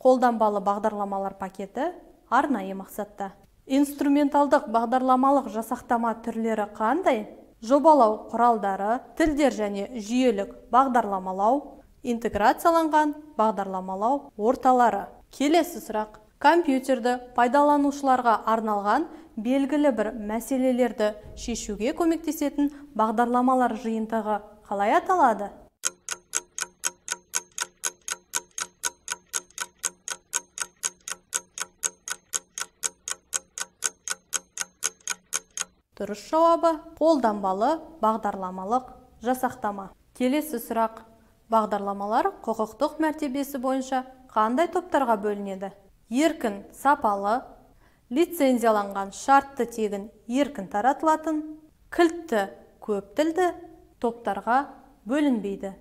қолданбалы бағдарламалар пакеті арнайы мақсатта. Инструменталдық бағдарламалық жасақтама түрлері қандай? Жобалау құралдары, тілдер және жүйелік бағдарламалау, интеграцияланған бағдарламалау орталары. Келесі сұрақ. Компьютерді пайдаланушыларға арналған белгілі бір мәселелерді шешуге көмектесетін бағдарламалар жиынтығы қалай аталады? Дұрыс жауабы қолданбалы бағдарламалық жасақтама. Келесі сұрақ. Бағдарламалар құқықтық мәртебесі бойынша қандай топтарға бөлінеді? Еркін сапалы, лицензияланған шартты тегін еркін таратылатын, кілтті көп тілді топтарға бөлінбейді.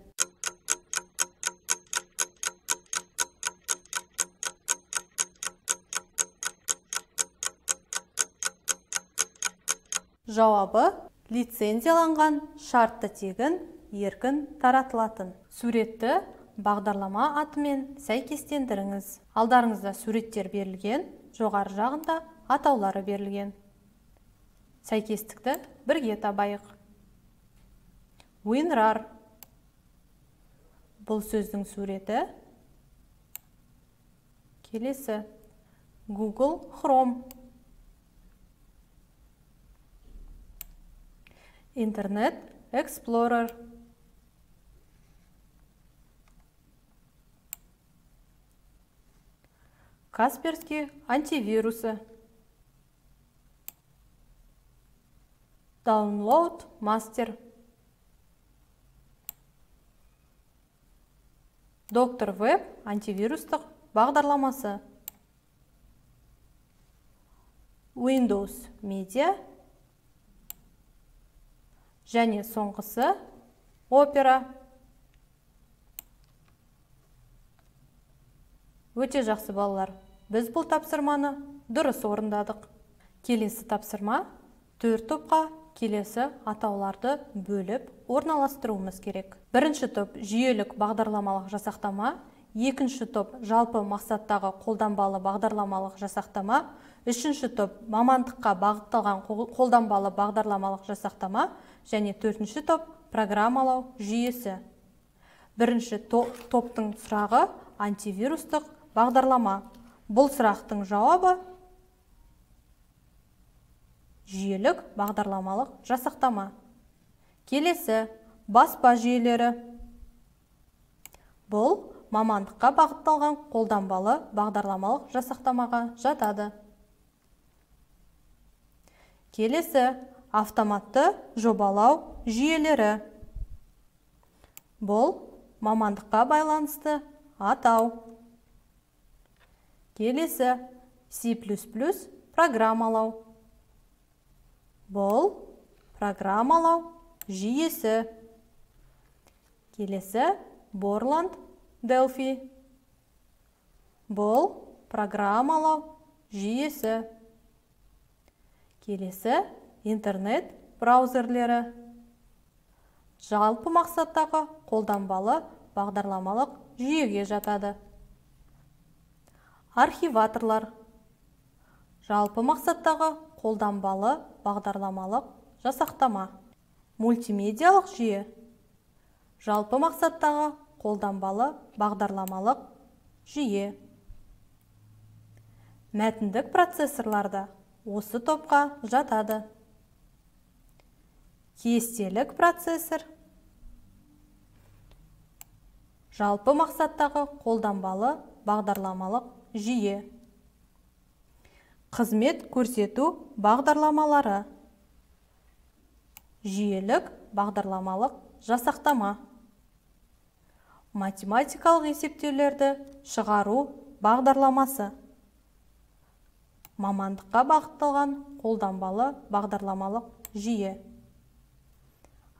Жауабы лицензияланған шартты тегін еркін таратылатын. Суретті бағдарлама атымен сәйкестендіріңіз. Алдарыңызда суреттер берілген, жоғары жағында атаулары берілген. Сәйкестікті бірге табайық. WinRAR. Бұл сөздің суреті. Келесі. Google Chrome. Internet Explorer. Касперский антивирусы. Download Master. Доктор Веб антивирустық бағдарламасы. Windows Media. Және соңғысы Opera. Өте жақсы балалар. Біз бұл тапсырманы дұрыс орындадық. Келесі тапсырма 4 топқа келесі атауларды бөліп орналастыруымыз керек. Бірінші топ жүйелік бағдарламалық жасақтама, екінші топ жалпы мақсаттағы қолданбалы бағдарламалық жасақтама, үшінші топ мамандыққа бағытталған қолданбалы бағдарламалық жасақтама және төртінші топ программалау жүйесі. Бірінші топтың сұрағы антивирустық бағдарлама. Бұл сұрақтың жауабы жүйелік бағдарламалық жасақтама. Келесі баспа жүйелері. Бұл мамандыққа бағытталған қолданбалы бағдарламалық жасақтамаға жатады. Келесі автоматты жобалау жүйелері. Бұл мамандыққа байланысты атау. Келесі C++ программалау. Бұл программалау жүйесі. Келесі Borland Delphi. Бұл программалау жүйесі. Келесі интернет браузерлері. Жалпы мақсаттағы қолданбалы бағдарламалық жүйеге жатады. Архиваторлар. Жалпы мақсаттағы қолданбалы бағдарламалық жасақтама. Мультимедиалық жүйе. Жалпы мақсаттағы қолданбалы бағдарламалық жүйе. Мәтіндік процессорларда осы топқа жатады. Кестелік процессор. Жалпы мақсаттағы қолданбалы бағдарламалық жүйе. Қызмет көрсету Математикалық есептеулерді шығару бағдарламасы. Мамандыққа бағытталған қолданбалы бағдарламалық жүйе.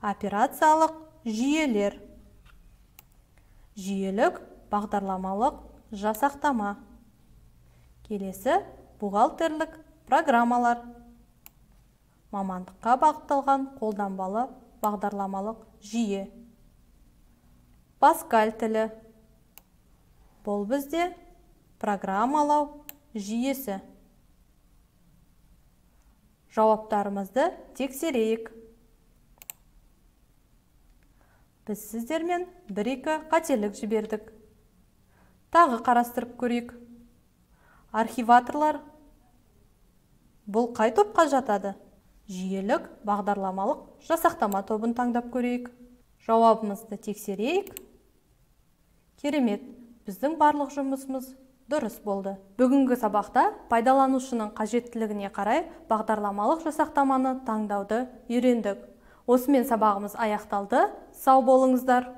Операциялық жүйелер. Жүйелік бағдарламалық жасақтама. Келесі бухгалтерлік программалар. Мамандыққа бағытталған қолданбалы бағдарламалық жүйе. Паскаль тілі. Бұл бізде программалау жүйесі. Жауаптарымызды тексерейік. Біз сіздермен бір-екі қателік жібердік. Тағы қарастырып көрейік. Архиваторлар бұл қай топқа жатады? Жүйелік бағдарламалық жасақтама тобын таңдап көрейік. Жауабымызды тексерейік. Керемет, біздің барлық жұмысымыз дұрыс болды. Бүгінгі сабақта пайдаланушының қажеттілігіне қарай бағдарламалық жасақтаманы таңдауды үйрендік. Осымен сабағымыз аяқталды. Сау болыңыздар.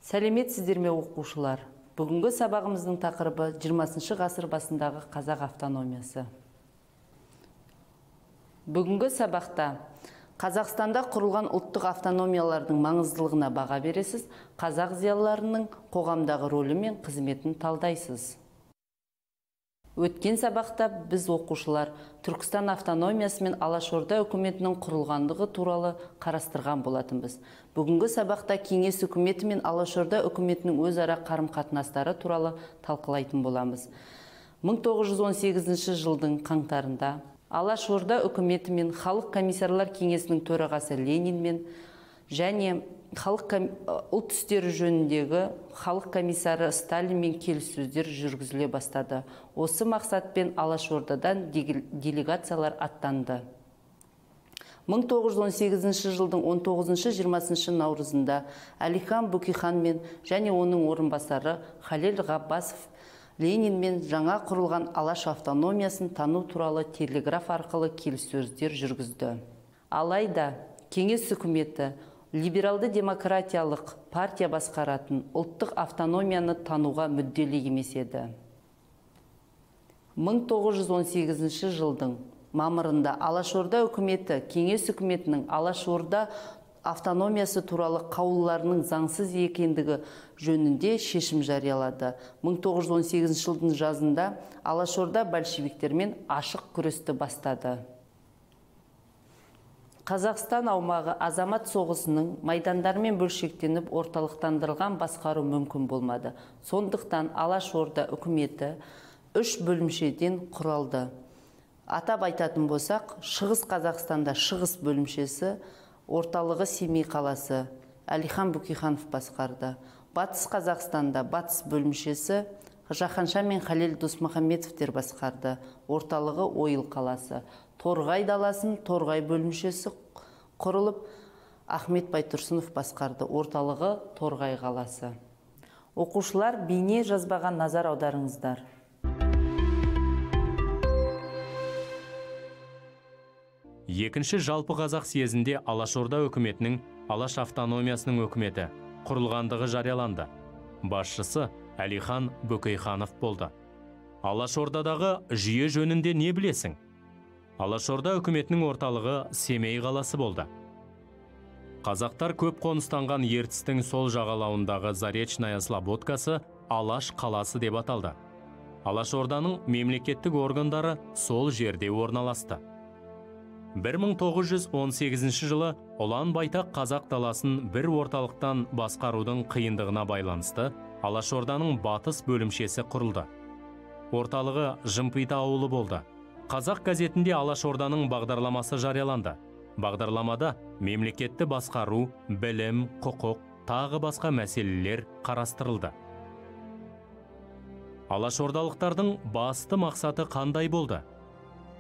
Сәлеметсіздер ме оқушылар? Бүгінгі сабағымыздың тақырыбы 20 ғасыр басындағы қазақ автономиясы. Бүгінгі сабақта Қазақстанда құрылған ұлттық автономиялардың маңыздылығына баға бересіз, қазақ зиялыларының қоғамдағы рөлі мен қызметін талдайсыз. Өткен сабақта біз оқушылар Түркістан автономиясы мен Алашорда үкіметінің құрылғандығы туралы қарастырған болатынбыз. Бүгінгі сабақта Кеңес үкіметі мен Алашорда үкіметінің өзара қарым-қатынастары туралы талқылайтын боламыз. 1918 жылдың қаңтарында Алашорда үкіметі мен Халық комиссарлар кеңесінің төрағасы Ленин мен және ұлт істері жөніндегі халық комиссары Сталинмен келіссөздер жүргізіле бастады. Осы мақсатпен Алашордадан делегациялар аттанды. 1918 жылдың 19-20 наурызында Әлихан Бөкейханмен және оның орынбасары Халел Ғаббасов Ленинмен жаңа құрылған Алаш автономиясын тану туралы телеграф арқылы келіссөздер жүргізді. Алайда Кеңес үкіметі либералды демократиялық партия басқаратын ұлттық автономияны тануға мүдделі емес еді. 1918 жылдың мамырында Алашорда үкіметі Кеңес үкіметінің Алашорда автономиясы туралы қаулыларының заңсыз екендігі жөнінде шешім жариялады. 1918 жылдың жазында Алашорда большевиктермен ашық күресті бастады. Қазақстан аумағы азамат соғысының майдандармен бөлшектеніп орталықтандырылған басқару мүмкін болмады. Сондықтан Алашорда үкіметі 3 бөлімшеден құралды. Атап айтатын болсақ, Шығыс Қазақстанда Шығыс бөлімшесі, орталығы Семей қаласы Әлихан Бөкейханов басқарды. Батыс Қазақстанда Батыс бөлімшесі Жаһанша мен Халел Досмұхамедовтер басқарды. Орталығы Ойыл қаласы. Торғай даласын Торғай бөлімшесі құрылып, Ахмет Байтұрсынов басқарды. Орталығы Торғай қаласы. Оқушылар, бейне жазбаға назар аударыңыздар. Екінші жалпы қазақ съезінде Алашорда үкіметінің Алаш автономиясының үкіметі құрылғандығы жарияланды. Басшысы Әлихан Бөкейханов болды. Алашордадағы жүйе жөнінде не білесің? Алашорда үкіметінің орталығы Семей қаласы болды. Қазақтар көп қоныстанған Ертістің сол жағалауындағы Заречная Слободкасы Алаш қаласы деп аталды. Алашорданың мемлекеттік органдары сол жерде орналасты. 1918 жылы Ұлан Байтақ қазақ даласын бір орталықтан басқарудың қиындығына байланысты Алашорданың батыс бөлімшесі құрылды. Орталығы Жымпиты ауылы болды. Қазақ газетінде Алашорданың бағдарламасы жарияланды. Бағдарламада мемлекетті басқару, білім, құқық, тағы басқа мәселелер қарастырылды. Алашордалықтардың басты мақсаты қандай болды?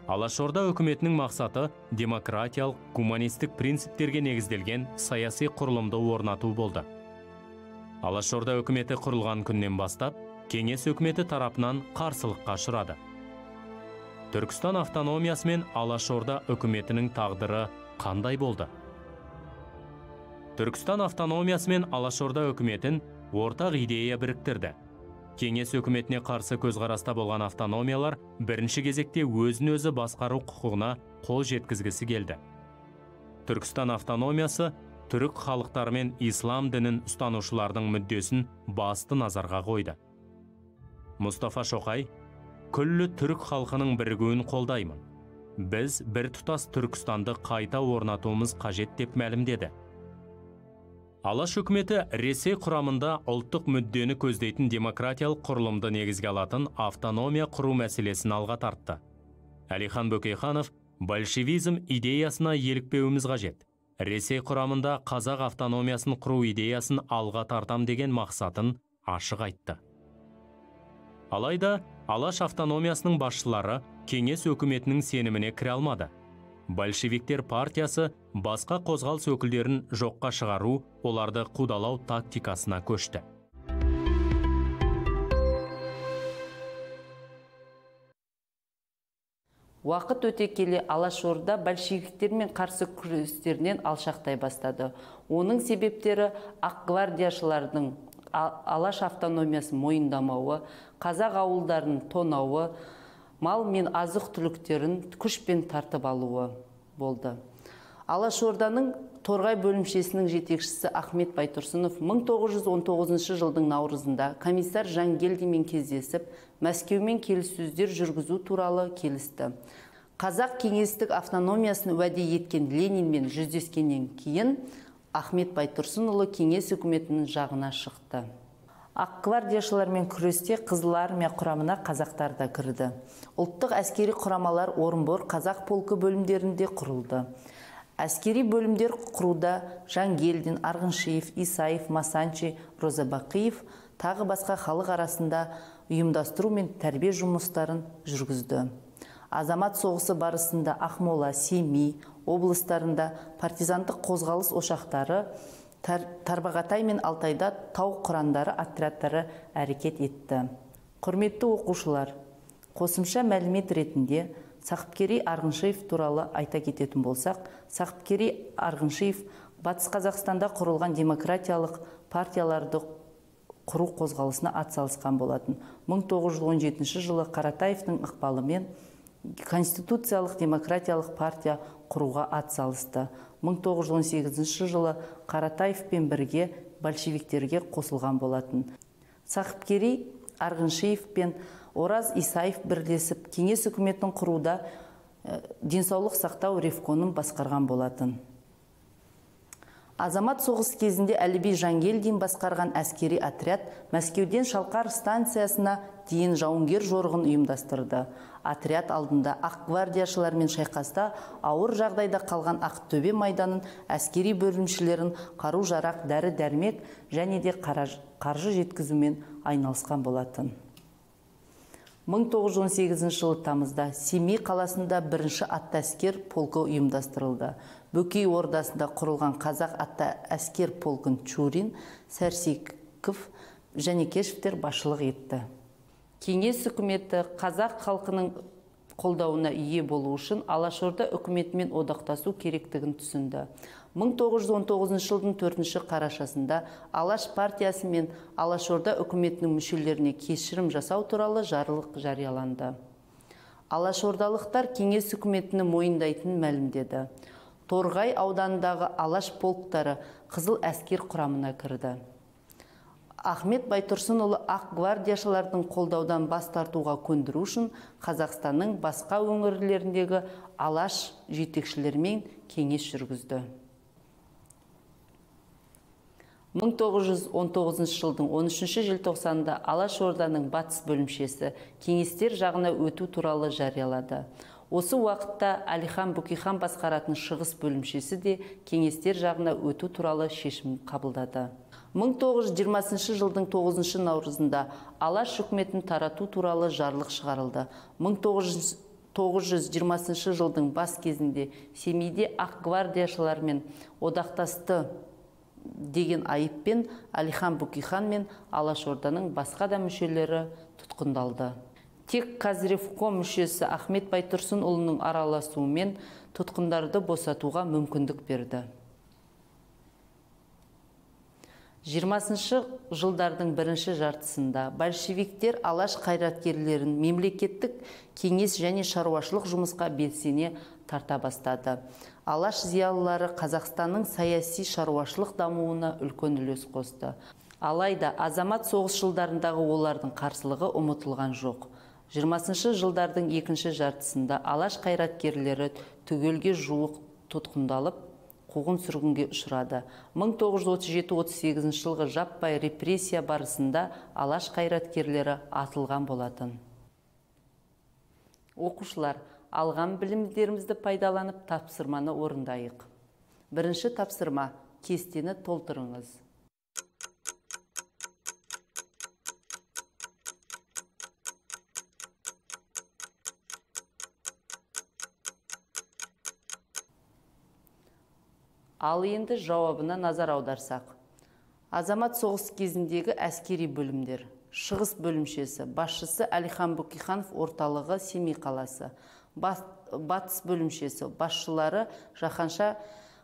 Алашорда үкіметінің мақсаты демократиялық, гуманистік принциптерге негізделген саяси құрылымды орнату болды. Алашорда үкіметі құрылған күннен бастап, Кеңес үкіметі тарапынан қарсылыққа ұшырады. Түркістан автономиясы мен Алашорда үкіметінің тағдыры қандай болды? Түркістан автономиясы мен Алашорда үкіметін ортақ идея біріктірді. Кеңес үкіметіне қарсы көзқараста болған автономиялар бірінші кезекте өзін-өзі басқару құқығына қол жеткізгісі келді. Түркістан автономиясы түрік халықтары мен ислам дінін ұстанушылардың мүддесін басты назарға қойды. Мұстафа Шоқай, күллі түрік халқының бірігуін қолдаймын. Біз бір тұтас Түркістанды қайта орнатуымыз қажет деп мәлімдеді. Алаш үкіметі Ресей құрамында ұлттық мүддені көздейтін демократиялық құрылымды негізге алатын автономия құру мәселесін алға тартты. Әлихан Бөкейханов большевизм идеясына елікпеуіміз қажет. Ресей құрамында қазақ автономиясын құру идеясын алға тартам деген мақсатын ашық айтты. Алайда Алаш автономиясының басшылары Кеңес үкіметінің сеніміне кіре алмады. Большевиктер партиясы басқа қозғалыс өкілдерін жоққа шығару, оларды қудалау тактикасына көшті. Уақыт өте келе Алашорда большевиктермен қарсы күрестерінен алшақтай бастады. Оның себептері ақ гвардияшылардың Алаш автономиясын мойындамауы, қазақ ауылдарын тонауы, мал мен азық түліктерін күшпен тартып алуы болды. Алашорданың Торғай бөлімшесінің жетекшісі Ахмет Байтұрсынов 1919 жылдың наурызында комиссар Жангелдинмен кездесіп, Мәскеумен келіссөздер жүргізу туралы келісті. Қазақ кеңестік автономиясын уәде еткен Ленинмен жүздескеннен кейін Ахмет Байтұрсынұлы Кеңес үкіметінің жағына шықты. Ақ гвардияшылармен күресте Қызыл армия құрамына қазақтар да кірді. Ұлттық әскери құрамалар Орынбор қазақ полкі бөлімдерінде құрылды. Әскери бөлімдер құруда Жангелдин, Арғыншиев, Исаев, Масанчи, Розабақиев тағы басқа халық арасында ұйымдастыру мен тәрбие жұмыстарын жүргізді. Азамат соғысы барысында Ақмола, Семей облыстарында партизандық қозғалыс ошақтары, Тарбағатай мен Алтайда тау құрандары отрядтары әрекет етті. Құрметті оқушылар, қосымша мәлімет ретінде Сақыпкерей Арғыншиев туралы айта кететін болсақ, Сақыпкерей Арғыншиев Батыс Қазақстанда құрылған демократиялық партияларды құру қозғалысына атсалысқан болатын. 1917 жылы Қаратаевтың ықпалымен Конституциялық демократиялық партия құруға атсалысты. 1918 жылы Қаратаевпен бірге большевиктерге қосылған болатын. Сақыпкерей Арғыншиев пен Ораз Исаев бірлесіп Кеңес үкіметінің құруда денсаулық сақтау ревкомын басқарған болатын. Азамат соғыс кезінде Әліби Жангелдин басқарған әскери отряд Мәскеуден Шалқар станциясына дейін жауынгер жорғын ұйымдастырды. Отряд алдында ақ гвардияшылармен шайқаста ауыр жағдайда қалған Ақтөбе майданын әскери бөлімшелерін қару-жарақ, дәрі-дәрмек және де қаржы жеткізумен айналысқан болатын. 1918 жылы тамызда Семей қаласында бірінші атты әскер полкі ұйымдастырылды. Бөкей ордасында құрылған қазақ атты әскер полкын Чурин, Сәрсеков және Кешевтер басшылық етті. Кеңес үкіметі қазақ халқының қолдауына ие болу үшін Алашорда үкіметімен одақтасу керектігін түсінді. 1919 жылдың 4 қарашасында Алаш партиясы мен Алашорда үкіметінің мүшелеріне кешірім жасау туралы жарлық жарияланды. Алашордалықтар Кеңес үкіметіні мойындайтынын мәлімдеді. Торғай ауданындағы Алаш полктары Қызыл әскер құрамына кірді. Ахмет Байтұрсынұлы ақ гвардияшылардың қолдаудан бас тартуға көндіру үшін Қазақстанның басқа өңірлеріндегі Алаш жетекшілерімен кеңес жүргізді. 1919 жылдың 13 желтоқсанында Алашорданың батыс бөлімшесі кеңестер жағына өту туралы жариялады. Осы уақытта Әлихан Бөкейхан басқаратын шығыс бөлімшесі де кеңестер жағына өту туралы шешім қабылдады. 1920 жылдың 9 наурызында Алаш үкіметін тарату туралы жарлық шығарылды. 1920 жылдың бас кезінде Семейде ақ гвардияшылар мен одақтасты деген айыппен Әлихан Бөкейхан мен Алашорданың басқа да мүшелері тұтқындалды. Тек Қазревком мүшесі Ахмет Байтұрсынұлының араласуымен тұтқындарды босатуға мүмкіндік берді. 20 жылдардың бірінші жартысында большевиктер алаш қайраткерлерін мемлекеттік кеңес және шаруашылық жұмысқа белсене тарта бастады. Алаш зиялылары Қазақстанның саяси шаруашылық дамуына үлкен үлес қосты. Алайда азамат соғыс жылдарындағы олардың қарсылығы ұмытылған жоқ. 20 жылдардың екінші жартысында алаш қайраткерлері түгелге жуық тұтқындалып, қуғын-сүргінге ұшырады. 1937-38 жылғы жаппай репрессия барысында алаш қайраткерлері атылған болатын. Оқушылар, алған білімдерімізді пайдаланып тапсырманы орындайық. Бірінші тапсырма: кестені толтырыңыз. Ал енді жауабына назар аударсақ. Азамат соғыс кезіндегі әскери бөлімдер. Шығыс бөлімшесі, басшысы Әлихан Бөкейханов, орталығы Семей қаласы. Батыс бөлімшесі, басшылары Жаһанша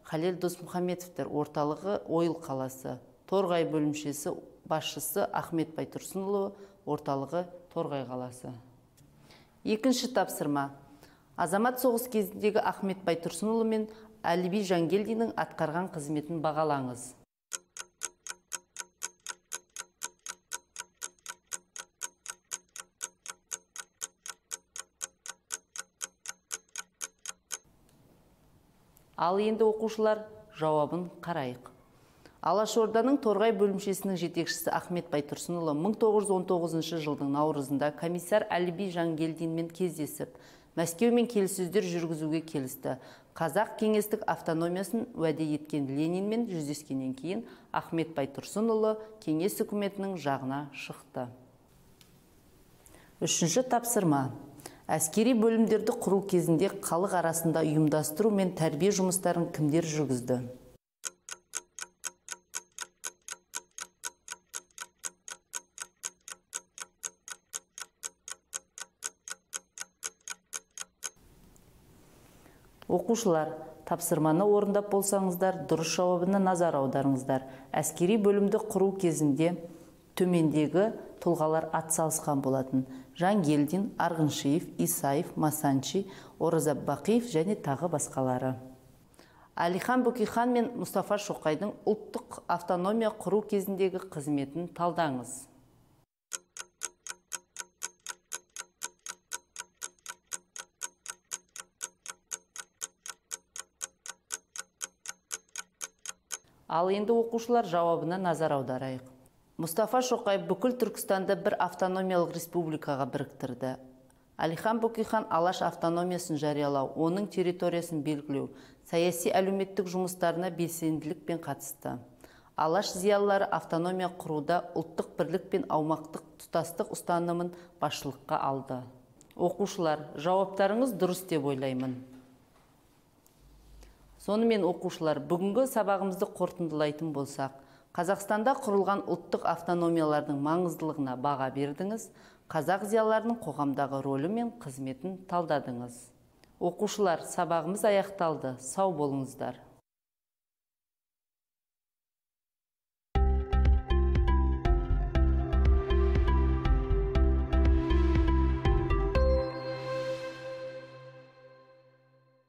Халел Досмұхамедовтер, орталығы Ойыл қаласы. Торғай бөлімшесі, басшысы Ахмет Байтұрсынұлы, орталығы Торғай қаласы. Екінші тапсырма: азамат соғыс кезіндегі Ахмет Байтұрсынұлы мен Әлиби Жангелдиннің атқарған қызметін бағалаңыз. Ал енді оқушылар жауабын қарайық. Алашорданың Торғай бөлімшесінің жетекшісі Ахмет Байтұрсынұлы 1919 жылдың наурызында комиссар Әлиби Жангелдинмен кездесіп, Мәскеумен келіссөздер жүргізуге келісті. Қазақ кеңестік автономиясын уәде еткен Ленинмен жүздескеннен кейін Ахмет Байтұрсынұлы кеңес үкіметінің жағына шықты. Үшінші тапсырма: әскери бөлімдерді құру кезінде халық арасында ұйымдастыру мен тәрбие жұмыстарын кімдер жүргізді? Оқушылар, тапсырманы орындап болсаңыздар, дұрыс жауабына назар аударыңыздар. Әскери бөлімді құру кезінде төмендегі тұлғалар атсалысқан болатын: Жангелдин, Арғыншиев, Исаев, Масанчи, Ораза Бақиев және тағы басқалары. Әлихан Бөкейхан мен Мұстафа Шоқайдың ұлттық автономия құру кезіндегі қызметін талдаңыз. Ал енді оқушылар жауабына назар аударайық. Мұстафа Шоқай бүкіл Түркістанды бір автономиялық республикаға біріктірді. Әлихан Бөкейхан алаш автономиясын жариялау, оның территориясын белгілеу, саяси әлеуметтік жұмыстарына белсенділікпен қатысты. Алаш зиялылары автономия құруда ұлттық бірлік пен аумақтық тұтастық ұстанымын басшылыққа алды. Оқушылар, жауаптарыңыз дұрыс деп ойлаймын. Сонымен оқушылар, бүгінгі сабағымызды қорытындылайтын болсақ, Қазақстанда құрылған ұлттық автономиялардың маңыздылығына баға бердіңіз, қазақ зиялыларының қоғамдағы рөлі мен қызметін талдадыңыз. Оқушылар, сабағымыз аяқталды. Сау болыңыздар.